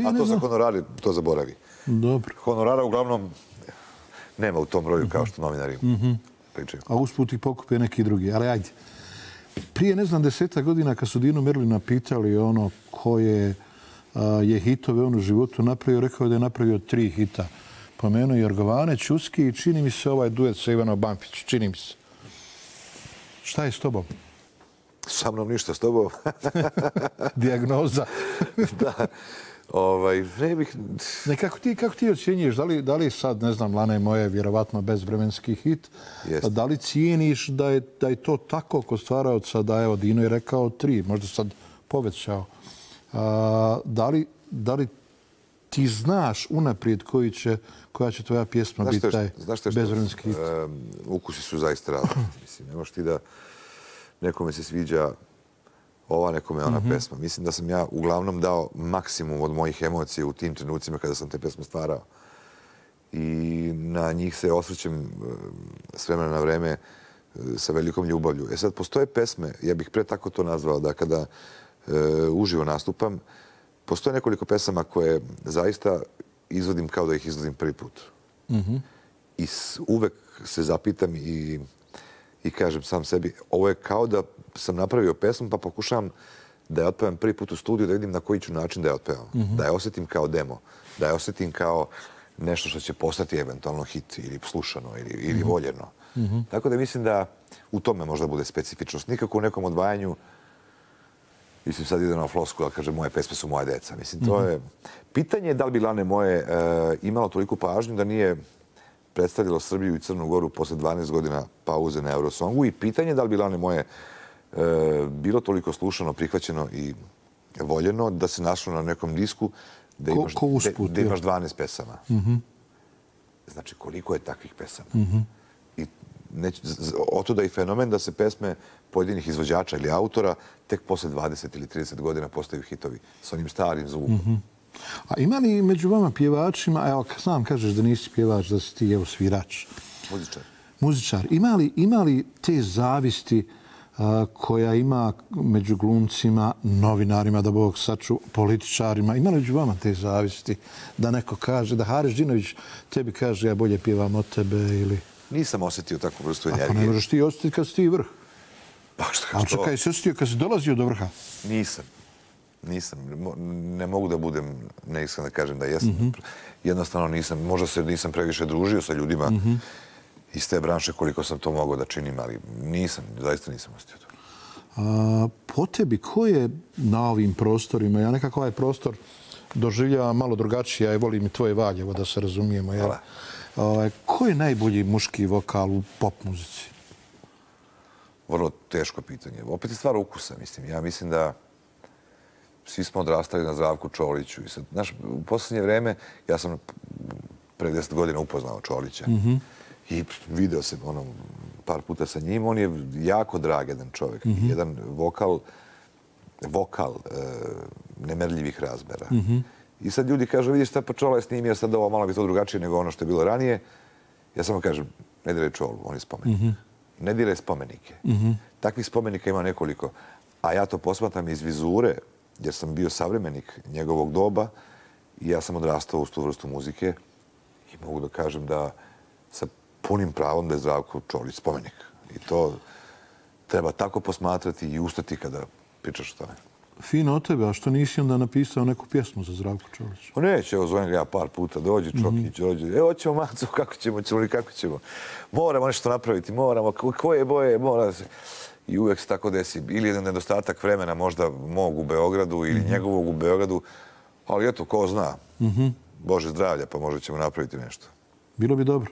a to za honorari, to zaboravi. Dobro. Honorara uglavnom nema u tom broju kao što novinari. Mm-hmm. pričaju. A usput ih pokupe neki drugi. Ali ajde. Prije, ne znam, deseta godina kad su Dino Merlina pitali ono koje je hitove on u životu napravio, rekao da je napravio tri hita. Pomenuo Jorgovane, Ćuski i čini mi se ovaj duet sa Ivanom Banfić. Čini mi se. Šta je s tobom? Sa mnom ništa, s tobom. Dijagnoza. Da. Ovaj, ne bih... Ne, kako ti, kako ti ocjenjuješ? Da li, da li sad, ne znam, Lana je moje vjerovatno bezvremenski hit, Jest. da li cijeniš da je, da je to tako kod stvaraoca da, evo, Dino je rekao tri, možda sad povećao. A, da, li, da li ti znaš unaprijed koji će, koja će tvoja pjesma biti taj bezvremenski hit? Um, ukusi su zaista različiti. Mislim, ne možeš ti da nekome se sviđa ova, nekome ona mm-hmm. pesma. Mislim da sam ja uglavnom dao maksimum od mojih emocija u tim trenucima kada sam te pesme stvarao. I na njih se osvrćem s vremena na vreme sa velikom ljubavlju. E sad, postoje pesme, ja bih pre tako to nazvao, da kada e, uživo nastupam, postoje nekoliko pesama koje zaista izvodim kao da ih izvodim prvi put. Mm-hmm. I s, uvek se zapitam i I kažem sam sebi, ovo je kao da sam napravio pesmu pa pokušavam da je otpevam prvi put u studiju, da vidim na koji ću način da je otpevam. Mm-hmm. Da je osjetim kao demo, da je osjetim kao nešto što će postati eventualno hit ili slušano ili, ili mm-hmm. voljeno. Mm-hmm. Tako da mislim da u tome možda bude specifičnost. Nikako u nekom odvajanju, mislim sad ide na flosku, ali kaže moje pesme su moja deca. Mislim, to je... Pitanje je da li bi Lane moje e, imalo toliku pažnju da nije predstavljalo Srbiju i Crnu Goru posle dvanaest godina pauze na Eurosongu i pitanje da li bi Lane moje e, bilo toliko slušano, prihvaćeno i voljeno da se našlo na nekom disku da imaš, ko, ko usput, da, da imaš dvanaest pesama. Mm-hmm. Znači, koliko je takvih pesama? Mm-hmm. I neć, oto da je fenomen da se pesme pojedinih izvođača ili autora tek posle dvadeset ili trideset godina postaju hitovi s onim starim zvukom. Mm-hmm. A ima li među vama pjevačima, evo sam kažeš da nisi pjevač, da si ti evo svirač. Muzičar. Muzičar. Ima li, ima li te zavisti a, koja ima među glumcima, novinarima, da Bog saču, političarima? Ima li među vama te zavisti da neko kaže, da Haris Džinović tebi kaže ja bolje pjevam od tebe ili... Nisam osjetio takvu vrstu energije. Ako ne možeš ti osjetiti kad si ti vrh. Pa što? Ali čekaj, si osjetio kad si dolazio do vrha? Nisam. Nisam. Ne mogu da budem neiskren da kažem da jesam. Mm-hmm. Jednostavno nisam. Možda se nisam previše družio sa ljudima mm-hmm. iz te branše koliko sam to mogao da činim, ali nisam. Zaista nisam osjetio to. A, po tebi, ko je na ovim prostorima? Ja nekako ovaj prostor doživljavam malo drugačije. Ja volim i tvoje Valjevo, da se razumijemo. Ja. A, ko je najbolji muški vokal u pop muzici? Vrlo teško pitanje. Opet je stvar ukusa, mislim. Ja mislim da svi smo odrastali na Zdravku Čoliću. I sad, znaš, u posljednje vreme, ja sam pre deset godina upoznao Čolića. Mm-hmm. I video se ono, par puta sa njim. On je jako drag jedan čovjek. Mm-hmm. Jedan vokal, vokal e, nemerljivih razmera. Mm-hmm. I sad ljudi kažu, vidiš šta pa Čola je snimio, sad ovo malo bi to drugačije nego ono što je bilo ranije. Ja samo kažem, ne diraj Čolu, on je spomenik. Mm-hmm. Ne diraj spomenike. Mm-hmm. Takvih spomenika ima nekoliko. A ja to posmatram iz vizure, jer sam bio savremenik njegovog doba i ja sam odrastao uz tu vrstu muzike i mogu da kažem da sa punim pravom da je Zdravko Čolić spomenik. I to treba tako posmatrati i ustati kada pričaš o tome. Fino od tebe, a što nisi onda napisao neku pjesmu za Zdravko Čolića? O neće, evo zovem ga ja par puta, dođi Čokić, mm-hmm. dođi, evo ćemo Macu, kako ćemo, ćemo li kako ćemo. Moramo nešto napraviti, moramo, koje boje, mora se... I uvijek se tako desi. Ili jedan nedostatak vremena možda mog u Beogradu ili mm-hmm. njegovog u Beogradu. Ali eto, ko zna. Mm-hmm. Bože zdravlja, pa možda ćemo napraviti nešto. Bilo bi dobro.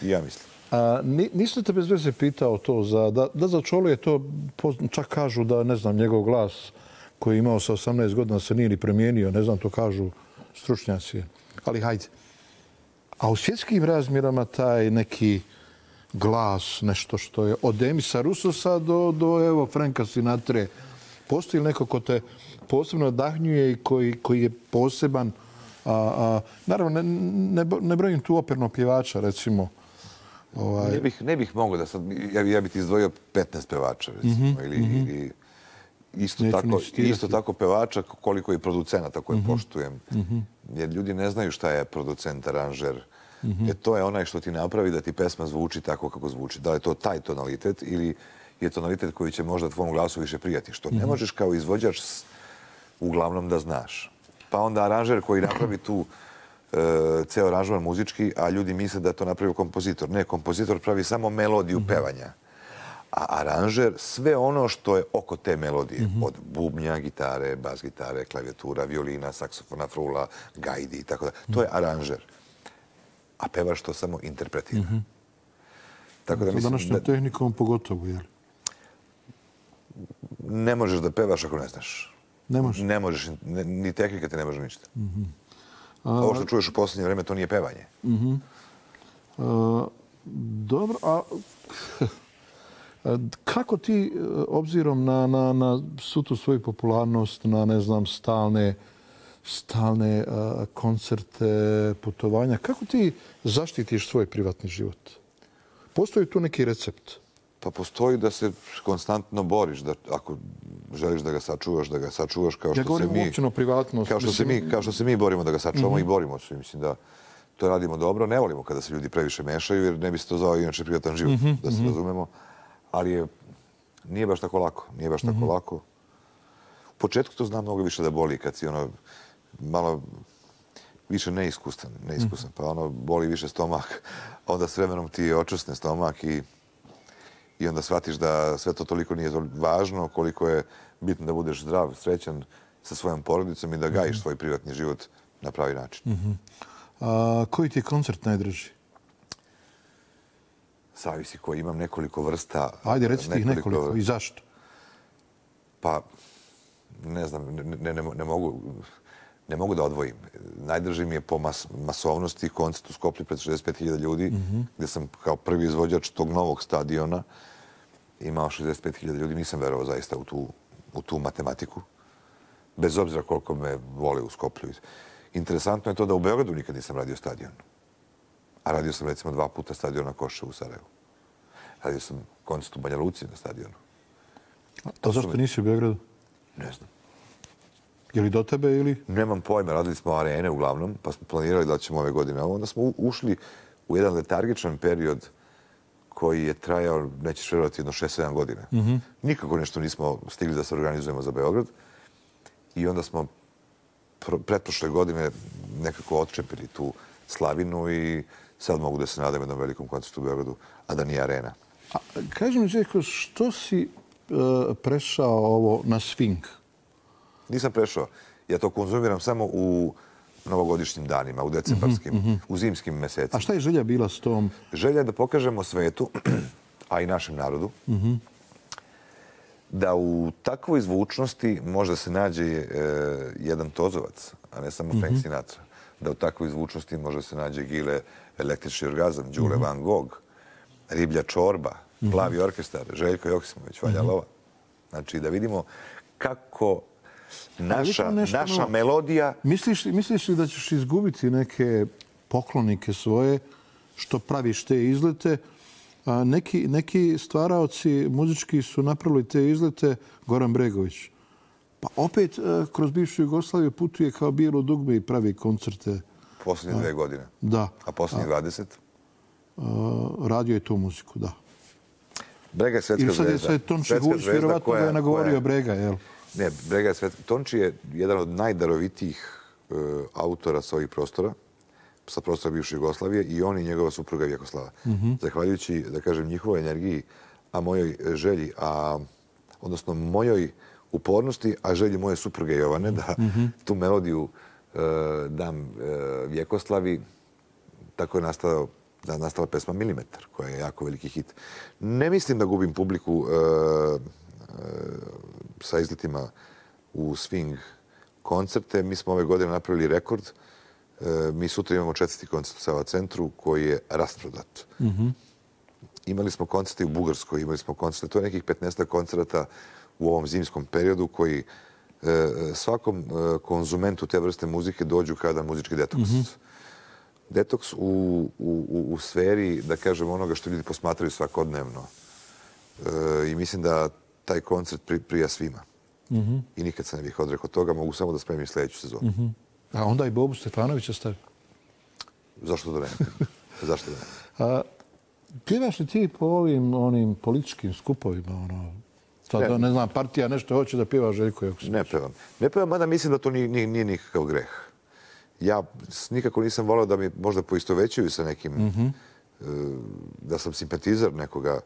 I ja mislim. A, nisam te bez veze pitao to. Za, da, da za Čolu je to, čak kažu da, ne znam, njegov glas koji je imao sa osamnaest godina se nije ni promijenio. Ne znam, to kažu stručnjaci. Ali hajde. A u svjetskim razmjerama taj neki glas, nešto što je od Demisa Rusosa do, do evo, Franka Sinatre. Postoji li neko ko te posebno nadahnjuje i koji, koji je poseban? A, a, naravno, ne, ne, ne brojim tu operno pjevača, recimo. Ovaj... Ne bih, ne bih mogao da sad... Ja, ja bih ti izdvojio petnaest pevača, recimo. Mm-hmm, ili, mm-hmm. ili isto, tako, isto tako pevača koliko i producenata koje mm-hmm. poštujem. Mm-hmm. Jer ljudi ne znaju šta je producent, aranžer, E to je onaj što ti napravi da ti pesma zvuči tako kako zvuči. Da li je to taj tonalitet ili je tonalitet koji će možda tvom glasu više prijati. Što ne možeš kao izvođač uglavnom da znaš. Pa onda aranžer koji napravi tu ceo aranžman muzički, a ljudi misle da je to napravio kompozitor. Ne, kompozitor pravi samo melodiju pevanja. A aranžer sve ono što je oko te melodije. Od bubnja, gitare, bas gitare, klavijatura, violina, saksofona, frula, gajdi i tako da. To je aranžer. A pevaš to samo interpretira. Tako da mislim... Današnjom tehnikom pogotovo, jel? Ne možeš da pevaš ako ne znaš. Ne možeš? Ne možeš. Ni tehnika ti ne može ništa. Ovo što čuješ u posljednje vreme, to nije pevanje. Dobro, a kako ti, obzirom na svu tu svoju popularnost, na, ne znam, stalne stalne koncerte, putovanja, kako ti zaštitiš svoj privatni život? Postoji tu neki recept? Pa postoji da se konstantno boriš, da ako želiš da ga sačuvaš, da ga sačuvaš kao što se mi... Ja govorim o privatnost. Kao što se mi, kao što se mi borimo da ga sačuvamo i borimo se. Mislim da to radimo dobro. Ne volimo kada se ljudi previše mešaju, jer ne bi se to zvao inače privatan život, da se razumemo. Ali je, nije baš tako lako. Nije baš tako lako. U početku to znam mnogo više da boli kad si ono malo više neiskusan, neiskusan. Pa ono boli više stomak. Onda s vremenom ti očvrsne stomak i I onda shvatiš da sve to toliko nije važno, koliko je bitno da budeš zdrav, srećan sa svojom porodicom i da gajiš svoj privatni život na pravi način. A koji ti je koncert najdraži? Zavisi koji. Imam nekoliko vrsta. Ajde, recite ih nekoliko. I zašto? Pa, ne znam, ne, ne, ne, mogu, ne mogu da odvojim. Najdraži mi je po mas, masovnosti koncert u Skoplju pred šezdeset pet hiljada ljudi, mm-hmm. gdje sam kao prvi izvođač tog novog stadiona imao šezdeset pet hiljada ljudi. Nisam verovao zaista u tu, u tu matematiku. Bez obzira koliko me vole u Skoplju. Interesantno je to da u Beogradu nikad nisam radio stadion. A radio sam recimo dva puta stadion na Koševu u Sarajevu. Radio sam koncert u Banja Luci na stadionu. A to zašto nisi u Beogradu? Ne znam. Je li do tebe ili? Nemam pojma. Radili smo arene uglavnom, pa smo planirali da ćemo ove godine. Onda smo ušli u jedan letargičan period koji je trajao, nećeš vjerovati, jedno šest sedam godina. Mm-hmm. Nikako nešto nismo stigli da se organizujemo za Beograd. I onda smo pretprošle godine nekako odčepili tu slavinu i sad mogu da se nadam jednom velikom koncertu u Beogradu, a da nije arena. A, kaži mi, Željko, što si uh, prešao ovo na swing? Nisam prešao. Ja to konzumiram samo u novogodišnjim danima, u decembarskim, mm-hmm. u zimskim mesecima. A šta je želja bila s tom? Želja je da pokažemo svetu, a i našem narodu, mm-hmm. da u takvoj zvučnosti može se nađe e, jedan Tozovac, a ne samo mm-hmm. Frank Sinatra. Da u takvoj zvučnosti može se nađe Gile, Električni orgazam, Đule mm-hmm. Van Gogh, Riblja čorba, mm-hmm. Plavi orkestar, Željko Joksimović, Vanja Lova. Znači da vidimo kako naša, naša melodija... Misliš, misliš li da ćeš izgubiti neke poklonike svoje što praviš te izlete? A neki, neki stvaraoci muzički su napravili te izlete, Goran Bregović. Pa opet kroz bivšu Jugoslaviju putuje kao bijelo dugme i pravi koncerte. Posljednje dve godine. Da. A posljednje dvadeset? Radio je tu muziku, da. Brega je svetska zvezda. Ili sad je Tonči Hulić, vjerovatno da je nagovorio Brega, jel? Ne, Brega je svetska. Tonči je jedan od najdarovitijih uh, autora sa ovih prostora, sa prostora bivše Jugoslavije, i on i njegova supruga Vjekoslava. Mm-hmm. Zahvaljujući, da kažem, njihovoj energiji, a mojoj želji, a, odnosno mojoj upornosti, a želji moje supruge Jovane, da mm-hmm. tu melodiju uh, dam uh, Vjekoslavi, tako je nastao, da, nastala pesma Milimetar, koja je jako veliki hit. Ne mislim da gubim publiku uh, uh, sa izletima u swing koncerte. Mi smo ove godine napravili rekord. Mi sutra imamo četvrti koncert u Sava centru koji je rasprodat. Mm-hmm. Imali smo koncerte u Bugarskoj, imali smo koncerte, to je nekih petnaest koncerata u ovom zimskom periodu koji e, svakom e, konzumentu te vrste muzike dođu kada muzički detoks. Mm-hmm. Detoks u, u, u, u sferi, da kažem, onoga što ljudi posmatraju svakodnevno. E, I mislim da taj koncert pri, prija svima. Mm-hmm. I nikad se ne bih odrekao toga, mogu samo da spremim sljedeću sezonu. Mm-hmm. A onda i Bobu Stefanovića stavi? Zašto da ne? Zašto da ne? A, pjevaš li ti po ovim onim političkim skupovima? Ono, sad, ne. ne znam, partija nešto hoće da pjeva Željko Joksimović. Ne pevam. Ne pevam, mada mislim da to nije, nije, nije nikakav greh. Ja nikako nisam volio da mi možda poistovećuju sa nekim, mm-hmm. da sam simpatizer nekoga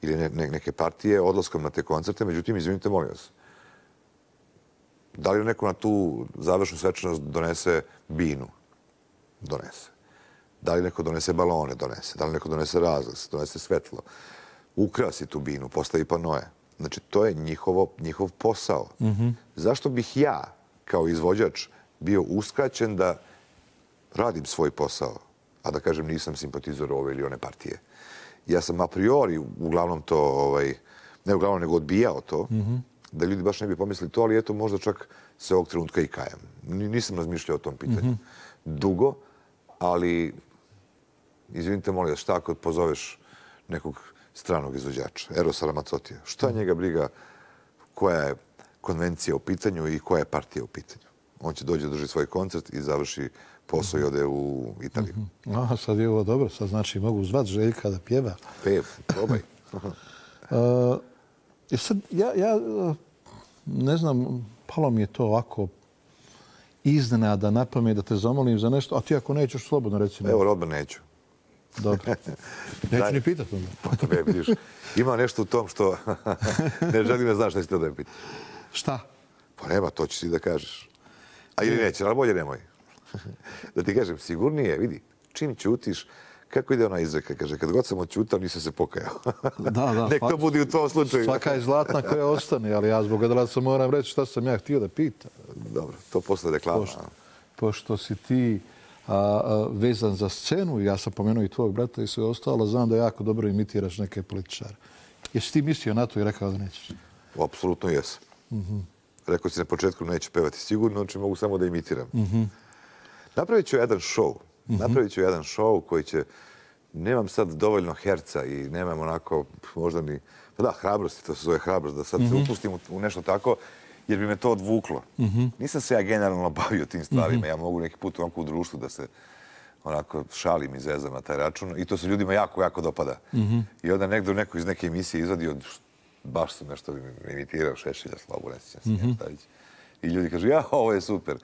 ili ne, ne, neke partije odlaskom na te koncerte. Međutim, izvinite, molim vas. Da li neko na tu završnu svečanost donese binu? Donese. Da li neko donese balone? Donese. Da li neko donese razglas? Donese svetlo. Ukrasi tu binu, postavi panoje. Znači, to je njihovo, njihov posao. Mm-hmm. Zašto bih ja, kao izvođač, bio uskraćen da radim svoj posao, a da kažem nisam simpatizor ove ili one partije? Ja sam a priori uglavnom to, ovaj, ne uglavnom nego odbijao to, mm-hmm. da ljudi baš ne bi pomislili to, ali eto možda čak se ovog trenutka i kajem. Nisam razmišljao o tom pitanju. Mm-hmm. Dugo, ali izvinite, molim vas, šta ako pozoveš nekog stranog izvođača, Erosa Ramazzottija, šta njega briga koja je konvencija u pitanju i koja je partija u pitanju? On će dođe, drži svoj koncert i završi posao i ode u Italiju. Mm-hmm. Aha, sad je ovo dobro. Sad znači mogu zvat Željka da pjeva. Pev, probaj. uh, sad, ja, ja ne znam, palo mi je to ovako iznenada na pamet da te zamolim za nešto, a ti ako nećeš, slobodno reci. Evo, odmah neću. Dobro. Neću ni pitati onda. Pa me vidiš, ima nešto u tom što ne želim da znaš šta si to da je pitati. Šta? Pa nema, to ćeš ti da kažeš. A ili neće, ali bolje nemoj. Da ti kažem, sigurnije, vidi, čim ćutiš, kako ide ona izreka, kaže, kad god sam odćutao, nisam se pokajao. Da, da. Nek to budi u tom slučaju. Svaka je zlatna koja ostane, ali ja zbog odlaza moram reći šta sam ja htio da pitam. Dobro, to posle reklama. Pošto, pošto si ti a, a, vezan za scenu, ja sam pomenuo i tvojeg brata i sve ostalo, znam da jako dobro imitiraš neke političare. Jesi ti mislio na to i rekao da nećeš? Apsolutno jesam. Mm-hmm. Rekao si na početku neću pevati sigurno, znači mogu samo da imitiram. Mm-hmm. Napravit ću jedan show. Mm-hmm. Napravit ću jedan show koji će... Nemam sad dovoljno herca i nemam onako možda ni... Pa da, hrabrosti, to se zove hrabrost, da sad mm-hmm. se upustim u nešto tako, jer bi me to odvuklo. Mm-hmm. Nisam se ja generalno bavio tim stvarima. Mm-hmm. Ja mogu neki put onako u društvu da se onako šalim i zezam na taj račun. I to se ljudima jako, jako dopada. Mm-hmm. I onda nekdo neko iz neke emisije izvadio, baš sam nešto imitirao, Šešelja, Slavu, ne sjećam se mm-hmm. I ljudi kažu, ja, ovo je super.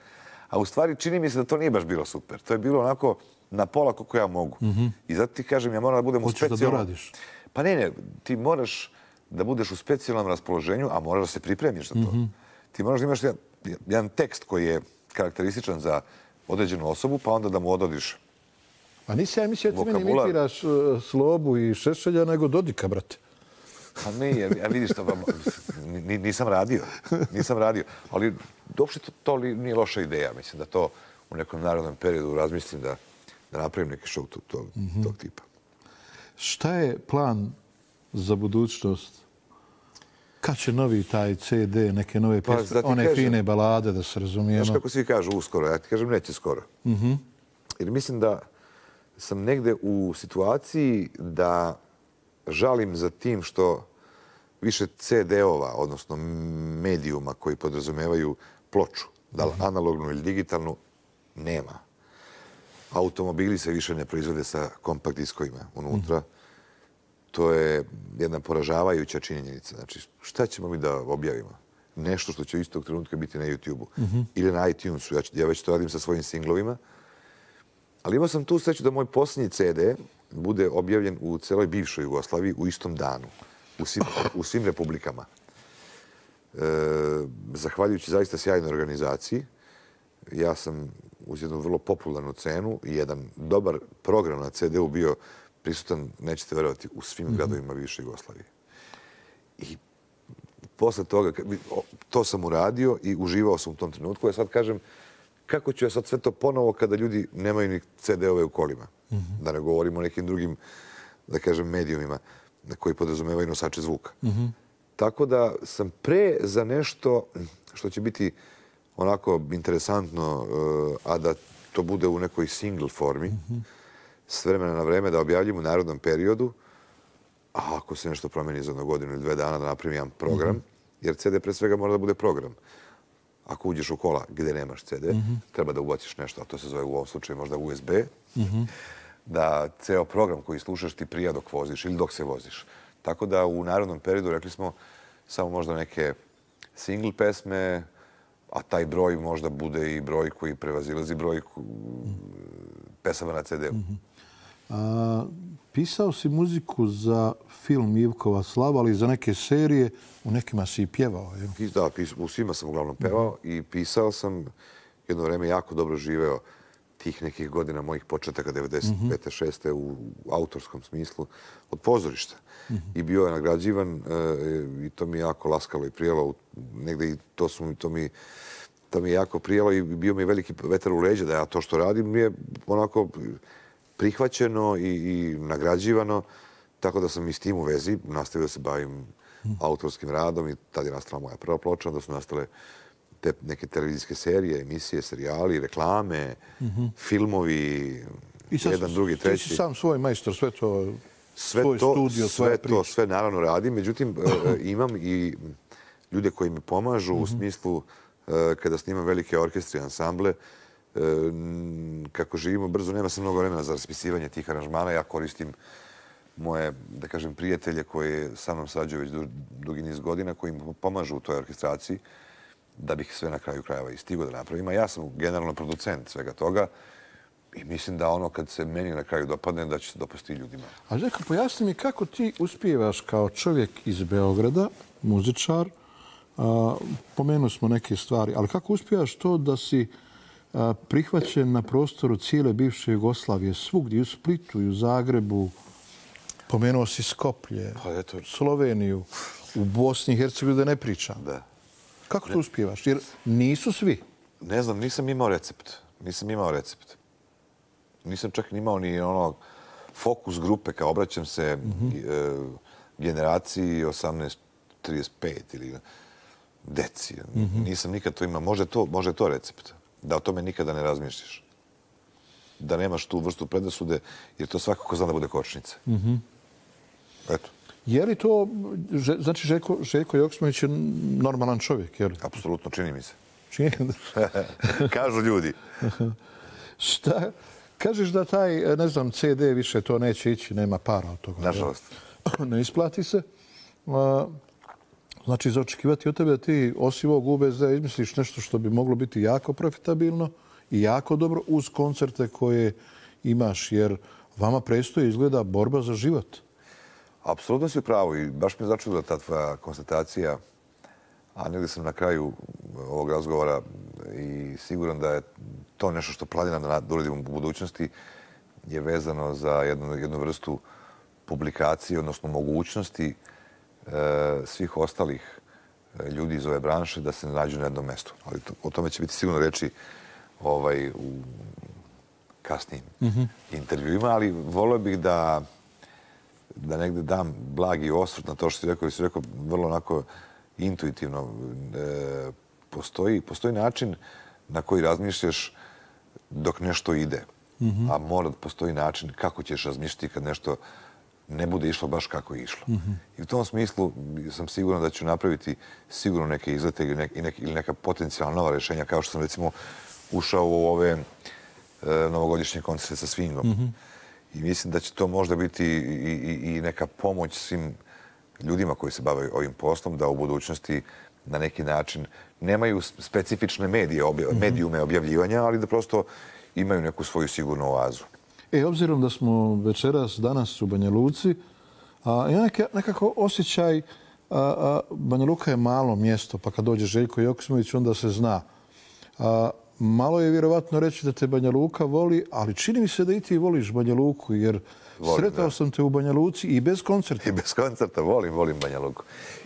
A u stvari čini mi se da to nije baš bilo super. To je bilo onako na pola koliko ja mogu. Mm-hmm. I zato ti kažem, ja moram da budem Hoćeš u specijalnom... da doradiš? Pa ne, ne, ti moraš da budeš u specijalnom raspoloženju, a moraš da se pripremiš za to. Mm-hmm. Ti moraš da imaš jedan, jedan tekst koji je karakterističan za određenu osobu, pa onda da mu ododiš. A nisi ja mislio da ti meni imitiraš uh, Slobu i Šešelja, nego Dodika, brate. Pa ne, ja vidiš to, nisam radio, nisam radio. Ali uopšte to, to nije loša ideja. Mislim da to u nekom narodnom periodu razmislim da, da napravim neki show tog, tog, mm-hmm. tog tipa. Šta je plan za budućnost? Kad će novi taj ce de, neke nove pa, pjesme, one kažem, fine balade, da se razumijemo? Znaš kako svi kažu uskoro, ja ti kažem neće skoro. Mm-hmm. Jer mislim da sam negde u situaciji da žalim za tim što više ce de-ova, odnosno medijuma koji podrazumevaju ploču, da li analognu ili digitalnu, nema. Automobili se više ne proizvode sa kompakt diskovima unutra. Mm. To je jedna poražavajuća činjenica. Znači, šta ćemo mi da objavimo? Nešto što će u istog trenutka biti na YouTube-u. Mm-hmm. Ili na iTunesu. Ja, ja već to radim sa svojim singlovima. Ali imao sam tu sreću da moj posljednji ce de bude objavljen u celoj bivšoj Jugoslaviji u istom danu. U svim, u svim republikama. E, zahvaljujući zaista sjajnoj organizaciji, ja sam uz jednu vrlo popularnu cenu i jedan dobar program na ce de-u bio prisutan, nećete verovati, u svim mm-hmm. gradovima bivše Jugoslavije. I posle toga, to sam uradio i uživao sam u tom trenutku. Ja sad kažem, kako ću ja sad sve to ponovo kada ljudi nemaju ni ce de-ove u kolima? Mm-hmm. Da ne govorimo o nekim drugim, da kažem, medijumima koji podrazumevaju nosače zvuka. Mm-hmm. Tako da sam pre za nešto što će biti onako interesantno, a da to bude u nekoj single formi, mm-hmm. s vremena na vreme da objavljim u narodnom periodu, a ako se nešto promeni za jednu godinu ili dve dana da napravim jedan program, mm-hmm. jer ce de pre svega mora da bude program. ako uđeš u kola gdje nemaš ce de, treba da ubaciš nešto, a to se zove u ovom slučaju možda u es be, da ceo program koji slušaš ti prija dok voziš ili dok se voziš. Tako da u narodnom periodu, rekli smo, samo možda neke single pesme, a taj broj možda bude i broj koji prevazilazi broj pesama na ce de-u. Pisao si muziku za film Ivkova slava, ali za neke serije, u nekima si i pjevao. Da, u svima sam uglavnom pevao i pisao sam, jedno vreme jako dobro živeo tih nekih godina mojih početaka devedeset pete šeste u autorskom smislu od pozorišta. I bio je nagrađivan i to mi je jako laskalo i prijelo. Negde i to su to mi to mi je jako prijelo i bio mi je veliki vetar u leđa da ja to što radim mi je onako prihvaćeno i, i nagrađivano. Tako da sam i s tim u vezi nastavio da se bavim autorskim radom i tad je nastala moja prva ploča. Onda su nastale te neke televizijske serije, emisije, serijali, reklame, filmovi, jedan, drugi, treći. Ti si sam svoj majstor, sve to, sve svoj to, studio, svoja priča. To sve naravno radim. Međutim, imam i ljude koji mi pomažu u smislu kada snimam velike orkestre i ansamble. Kako živimo brzo, nema se mnogo vremena za raspisivanje tih aranžmana. Ja koristim moje, da kažem, prijatelje koje sa mnom sarađuju već dugi niz godina, koji mi pomažu u toj orkestraciji da bih sve na kraju krajeva i stigo da napravim. A ja sam generalno producent svega toga i mislim da ono kad se meni na kraju dopadne, da će se dopasti ljudima. A Željko, pojasni mi kako ti uspijevaš kao čovjek iz Beograda, muzičar, a, pomenuli smo neke stvari, ali kako uspijevaš to da si a, prihvaćen na prostoru cijele bivše Jugoslavije, svugdje, u Splitu i u Zagrebu, pomenuo si Skoplje, pa, eto. Sloveniju, u Bosni i Hercegovini da ne pričam. Da. Kako to uspijevaš? Jer nisu svi. Ne znam, nisam imao recept. Nisam imao recept. Nisam čak imao ni ono fokus grupe, kao obraćam se e, generaciji osamnaest trideset pet ili deci. Nisam nikad to imao. Može to, može to recept. Da o tome nikada ne razmišljaš. Da nemaš tu vrstu predrasude, jer to svakako zna da bude kočnica. Eto. Je li to, znači Željko, Željko Joksimović je normalan čovjek, je li? Apsolutno, čini mi se. Čini? Kažu ljudi. Šta? Kažeš da taj, ne znam, ce de više to neće ići, nema para od toga. Nažalost. Ne isplati se. Znači, za očekivati od tebe da ti osim ovog u be es de izmisliš nešto što bi moglo biti jako profitabilno i jako dobro uz koncerte koje imaš, jer vama prestoji izgleda borba za život. Apsolutno si u pravu i baš mi je začudila ta tvoja konstatacija, a negdje sam na kraju ovog razgovora i siguran da je to nešto što planiram da uradim u budućnosti je vezano za jednu, jednu vrstu publikacije, odnosno mogućnosti e, svih ostalih ljudi iz ove branše da se nađu na jednom mjestu. Ali to, o tome će biti sigurno reći ovaj, u kasnijim mm-hmm. intervjuima, ali volio bih da da negdje dam blagi osvrt na to što si rekao, i si rekao vrlo onako intuitivno. E, postoji, postoji način na koji razmišljaš dok nešto ide, mm-hmm. a mora da postoji način kako ćeš razmišljati kad nešto ne bude išlo baš kako je išlo. Mm-hmm. I u tom smislu sam siguran da ću napraviti sigurno neke izlete ili, nek, nek, ili neka potencijalna nova rješenja, kao što sam recimo ušao u ove e, novogodišnje koncerte sa swingom. Mm-hmm. I mislim da će to možda biti i, i, i neka pomoć svim ljudima koji se bave ovim poslom, da u budućnosti na neki način nemaju specifične medije, obja, mm-hmm. medijume objavljivanja, ali da prosto imaju neku svoju sigurnu oazu. E, obzirom da smo večeras, danas u Banja Luci, a, ja neka, nekako osjećaj, a, a, Banja Luka je malo mjesto, pa kad dođe Željko Joksimović, onda se zna. A, malo je vjerovatno reći da te Banja Luka voli, ali čini mi se da i ti voliš Banja Luku, jer volim, sretao da. sam te u Banja Luci i bez koncerta. I bez koncerta volim, volim Banja Luku.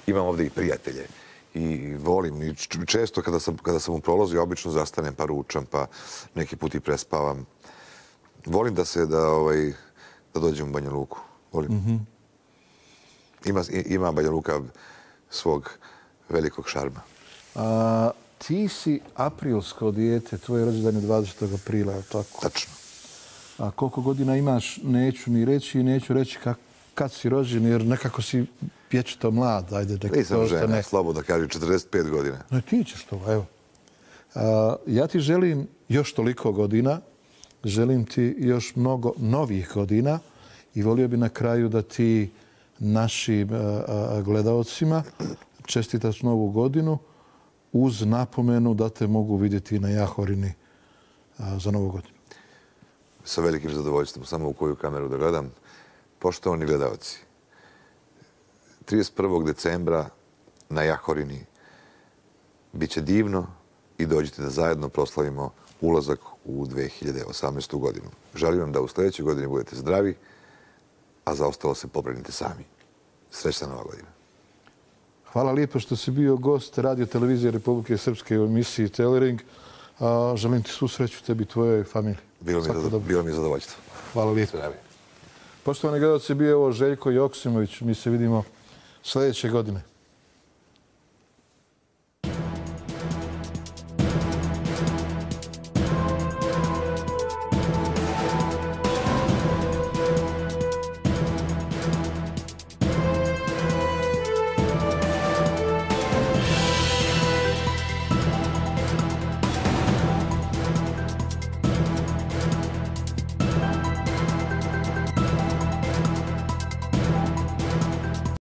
Imam ovdje i prijatelje. I volim. I često kada sam, kada sam u prolazu, ja obično zastanem pa ručam, pa neki put i prespavam. Volim da se da, ovaj, da dođem u Banja Luku. Volim. Mm-hmm. Ima, ima Banja Luka svog velikog šarma. A, ti si aprilsko dijete, tvoj rođendan je dvadesetog aprila, je tako? Tačno. A koliko godina imaš, neću ni reći i neću reći kak, kad si rođen, jer nekako si vječito mlad. Ajde, nisam žena, slobodno kažem, četrdeset pet godina. No ti ćeš to, evo. Ja ti želim još toliko godina, želim ti još mnogo novih godina i volio bi na kraju da ti našim gledaocima čestitaš novu godinu uz napomenu da te mogu vidjeti na Jahorini za novu godinu. Sa velikim zadovoljstvom, samo u koju kameru da gledam. Poštovani gledalci, trideset prvog decembra na Jahorini bit će divno i dođite da zajedno proslavimo ulazak u dve hiljade osamnaestu. godinu. Želim vam da u sljedećoj godini budete zdravi, a za ostalo se pobrinite sami. Srećna nova godina. Hvala lijepo što si bio gost Radio Televizije Republike Srpske u emisiji Telering. Želim ti svu sreću tebi i tvojoj familiji. Bilo mi je zadovoljstvo. Hvala lijepo. Poštovani gledalci, bio je ovo Željko Joksimović. Mi se vidimo sljedeće godine.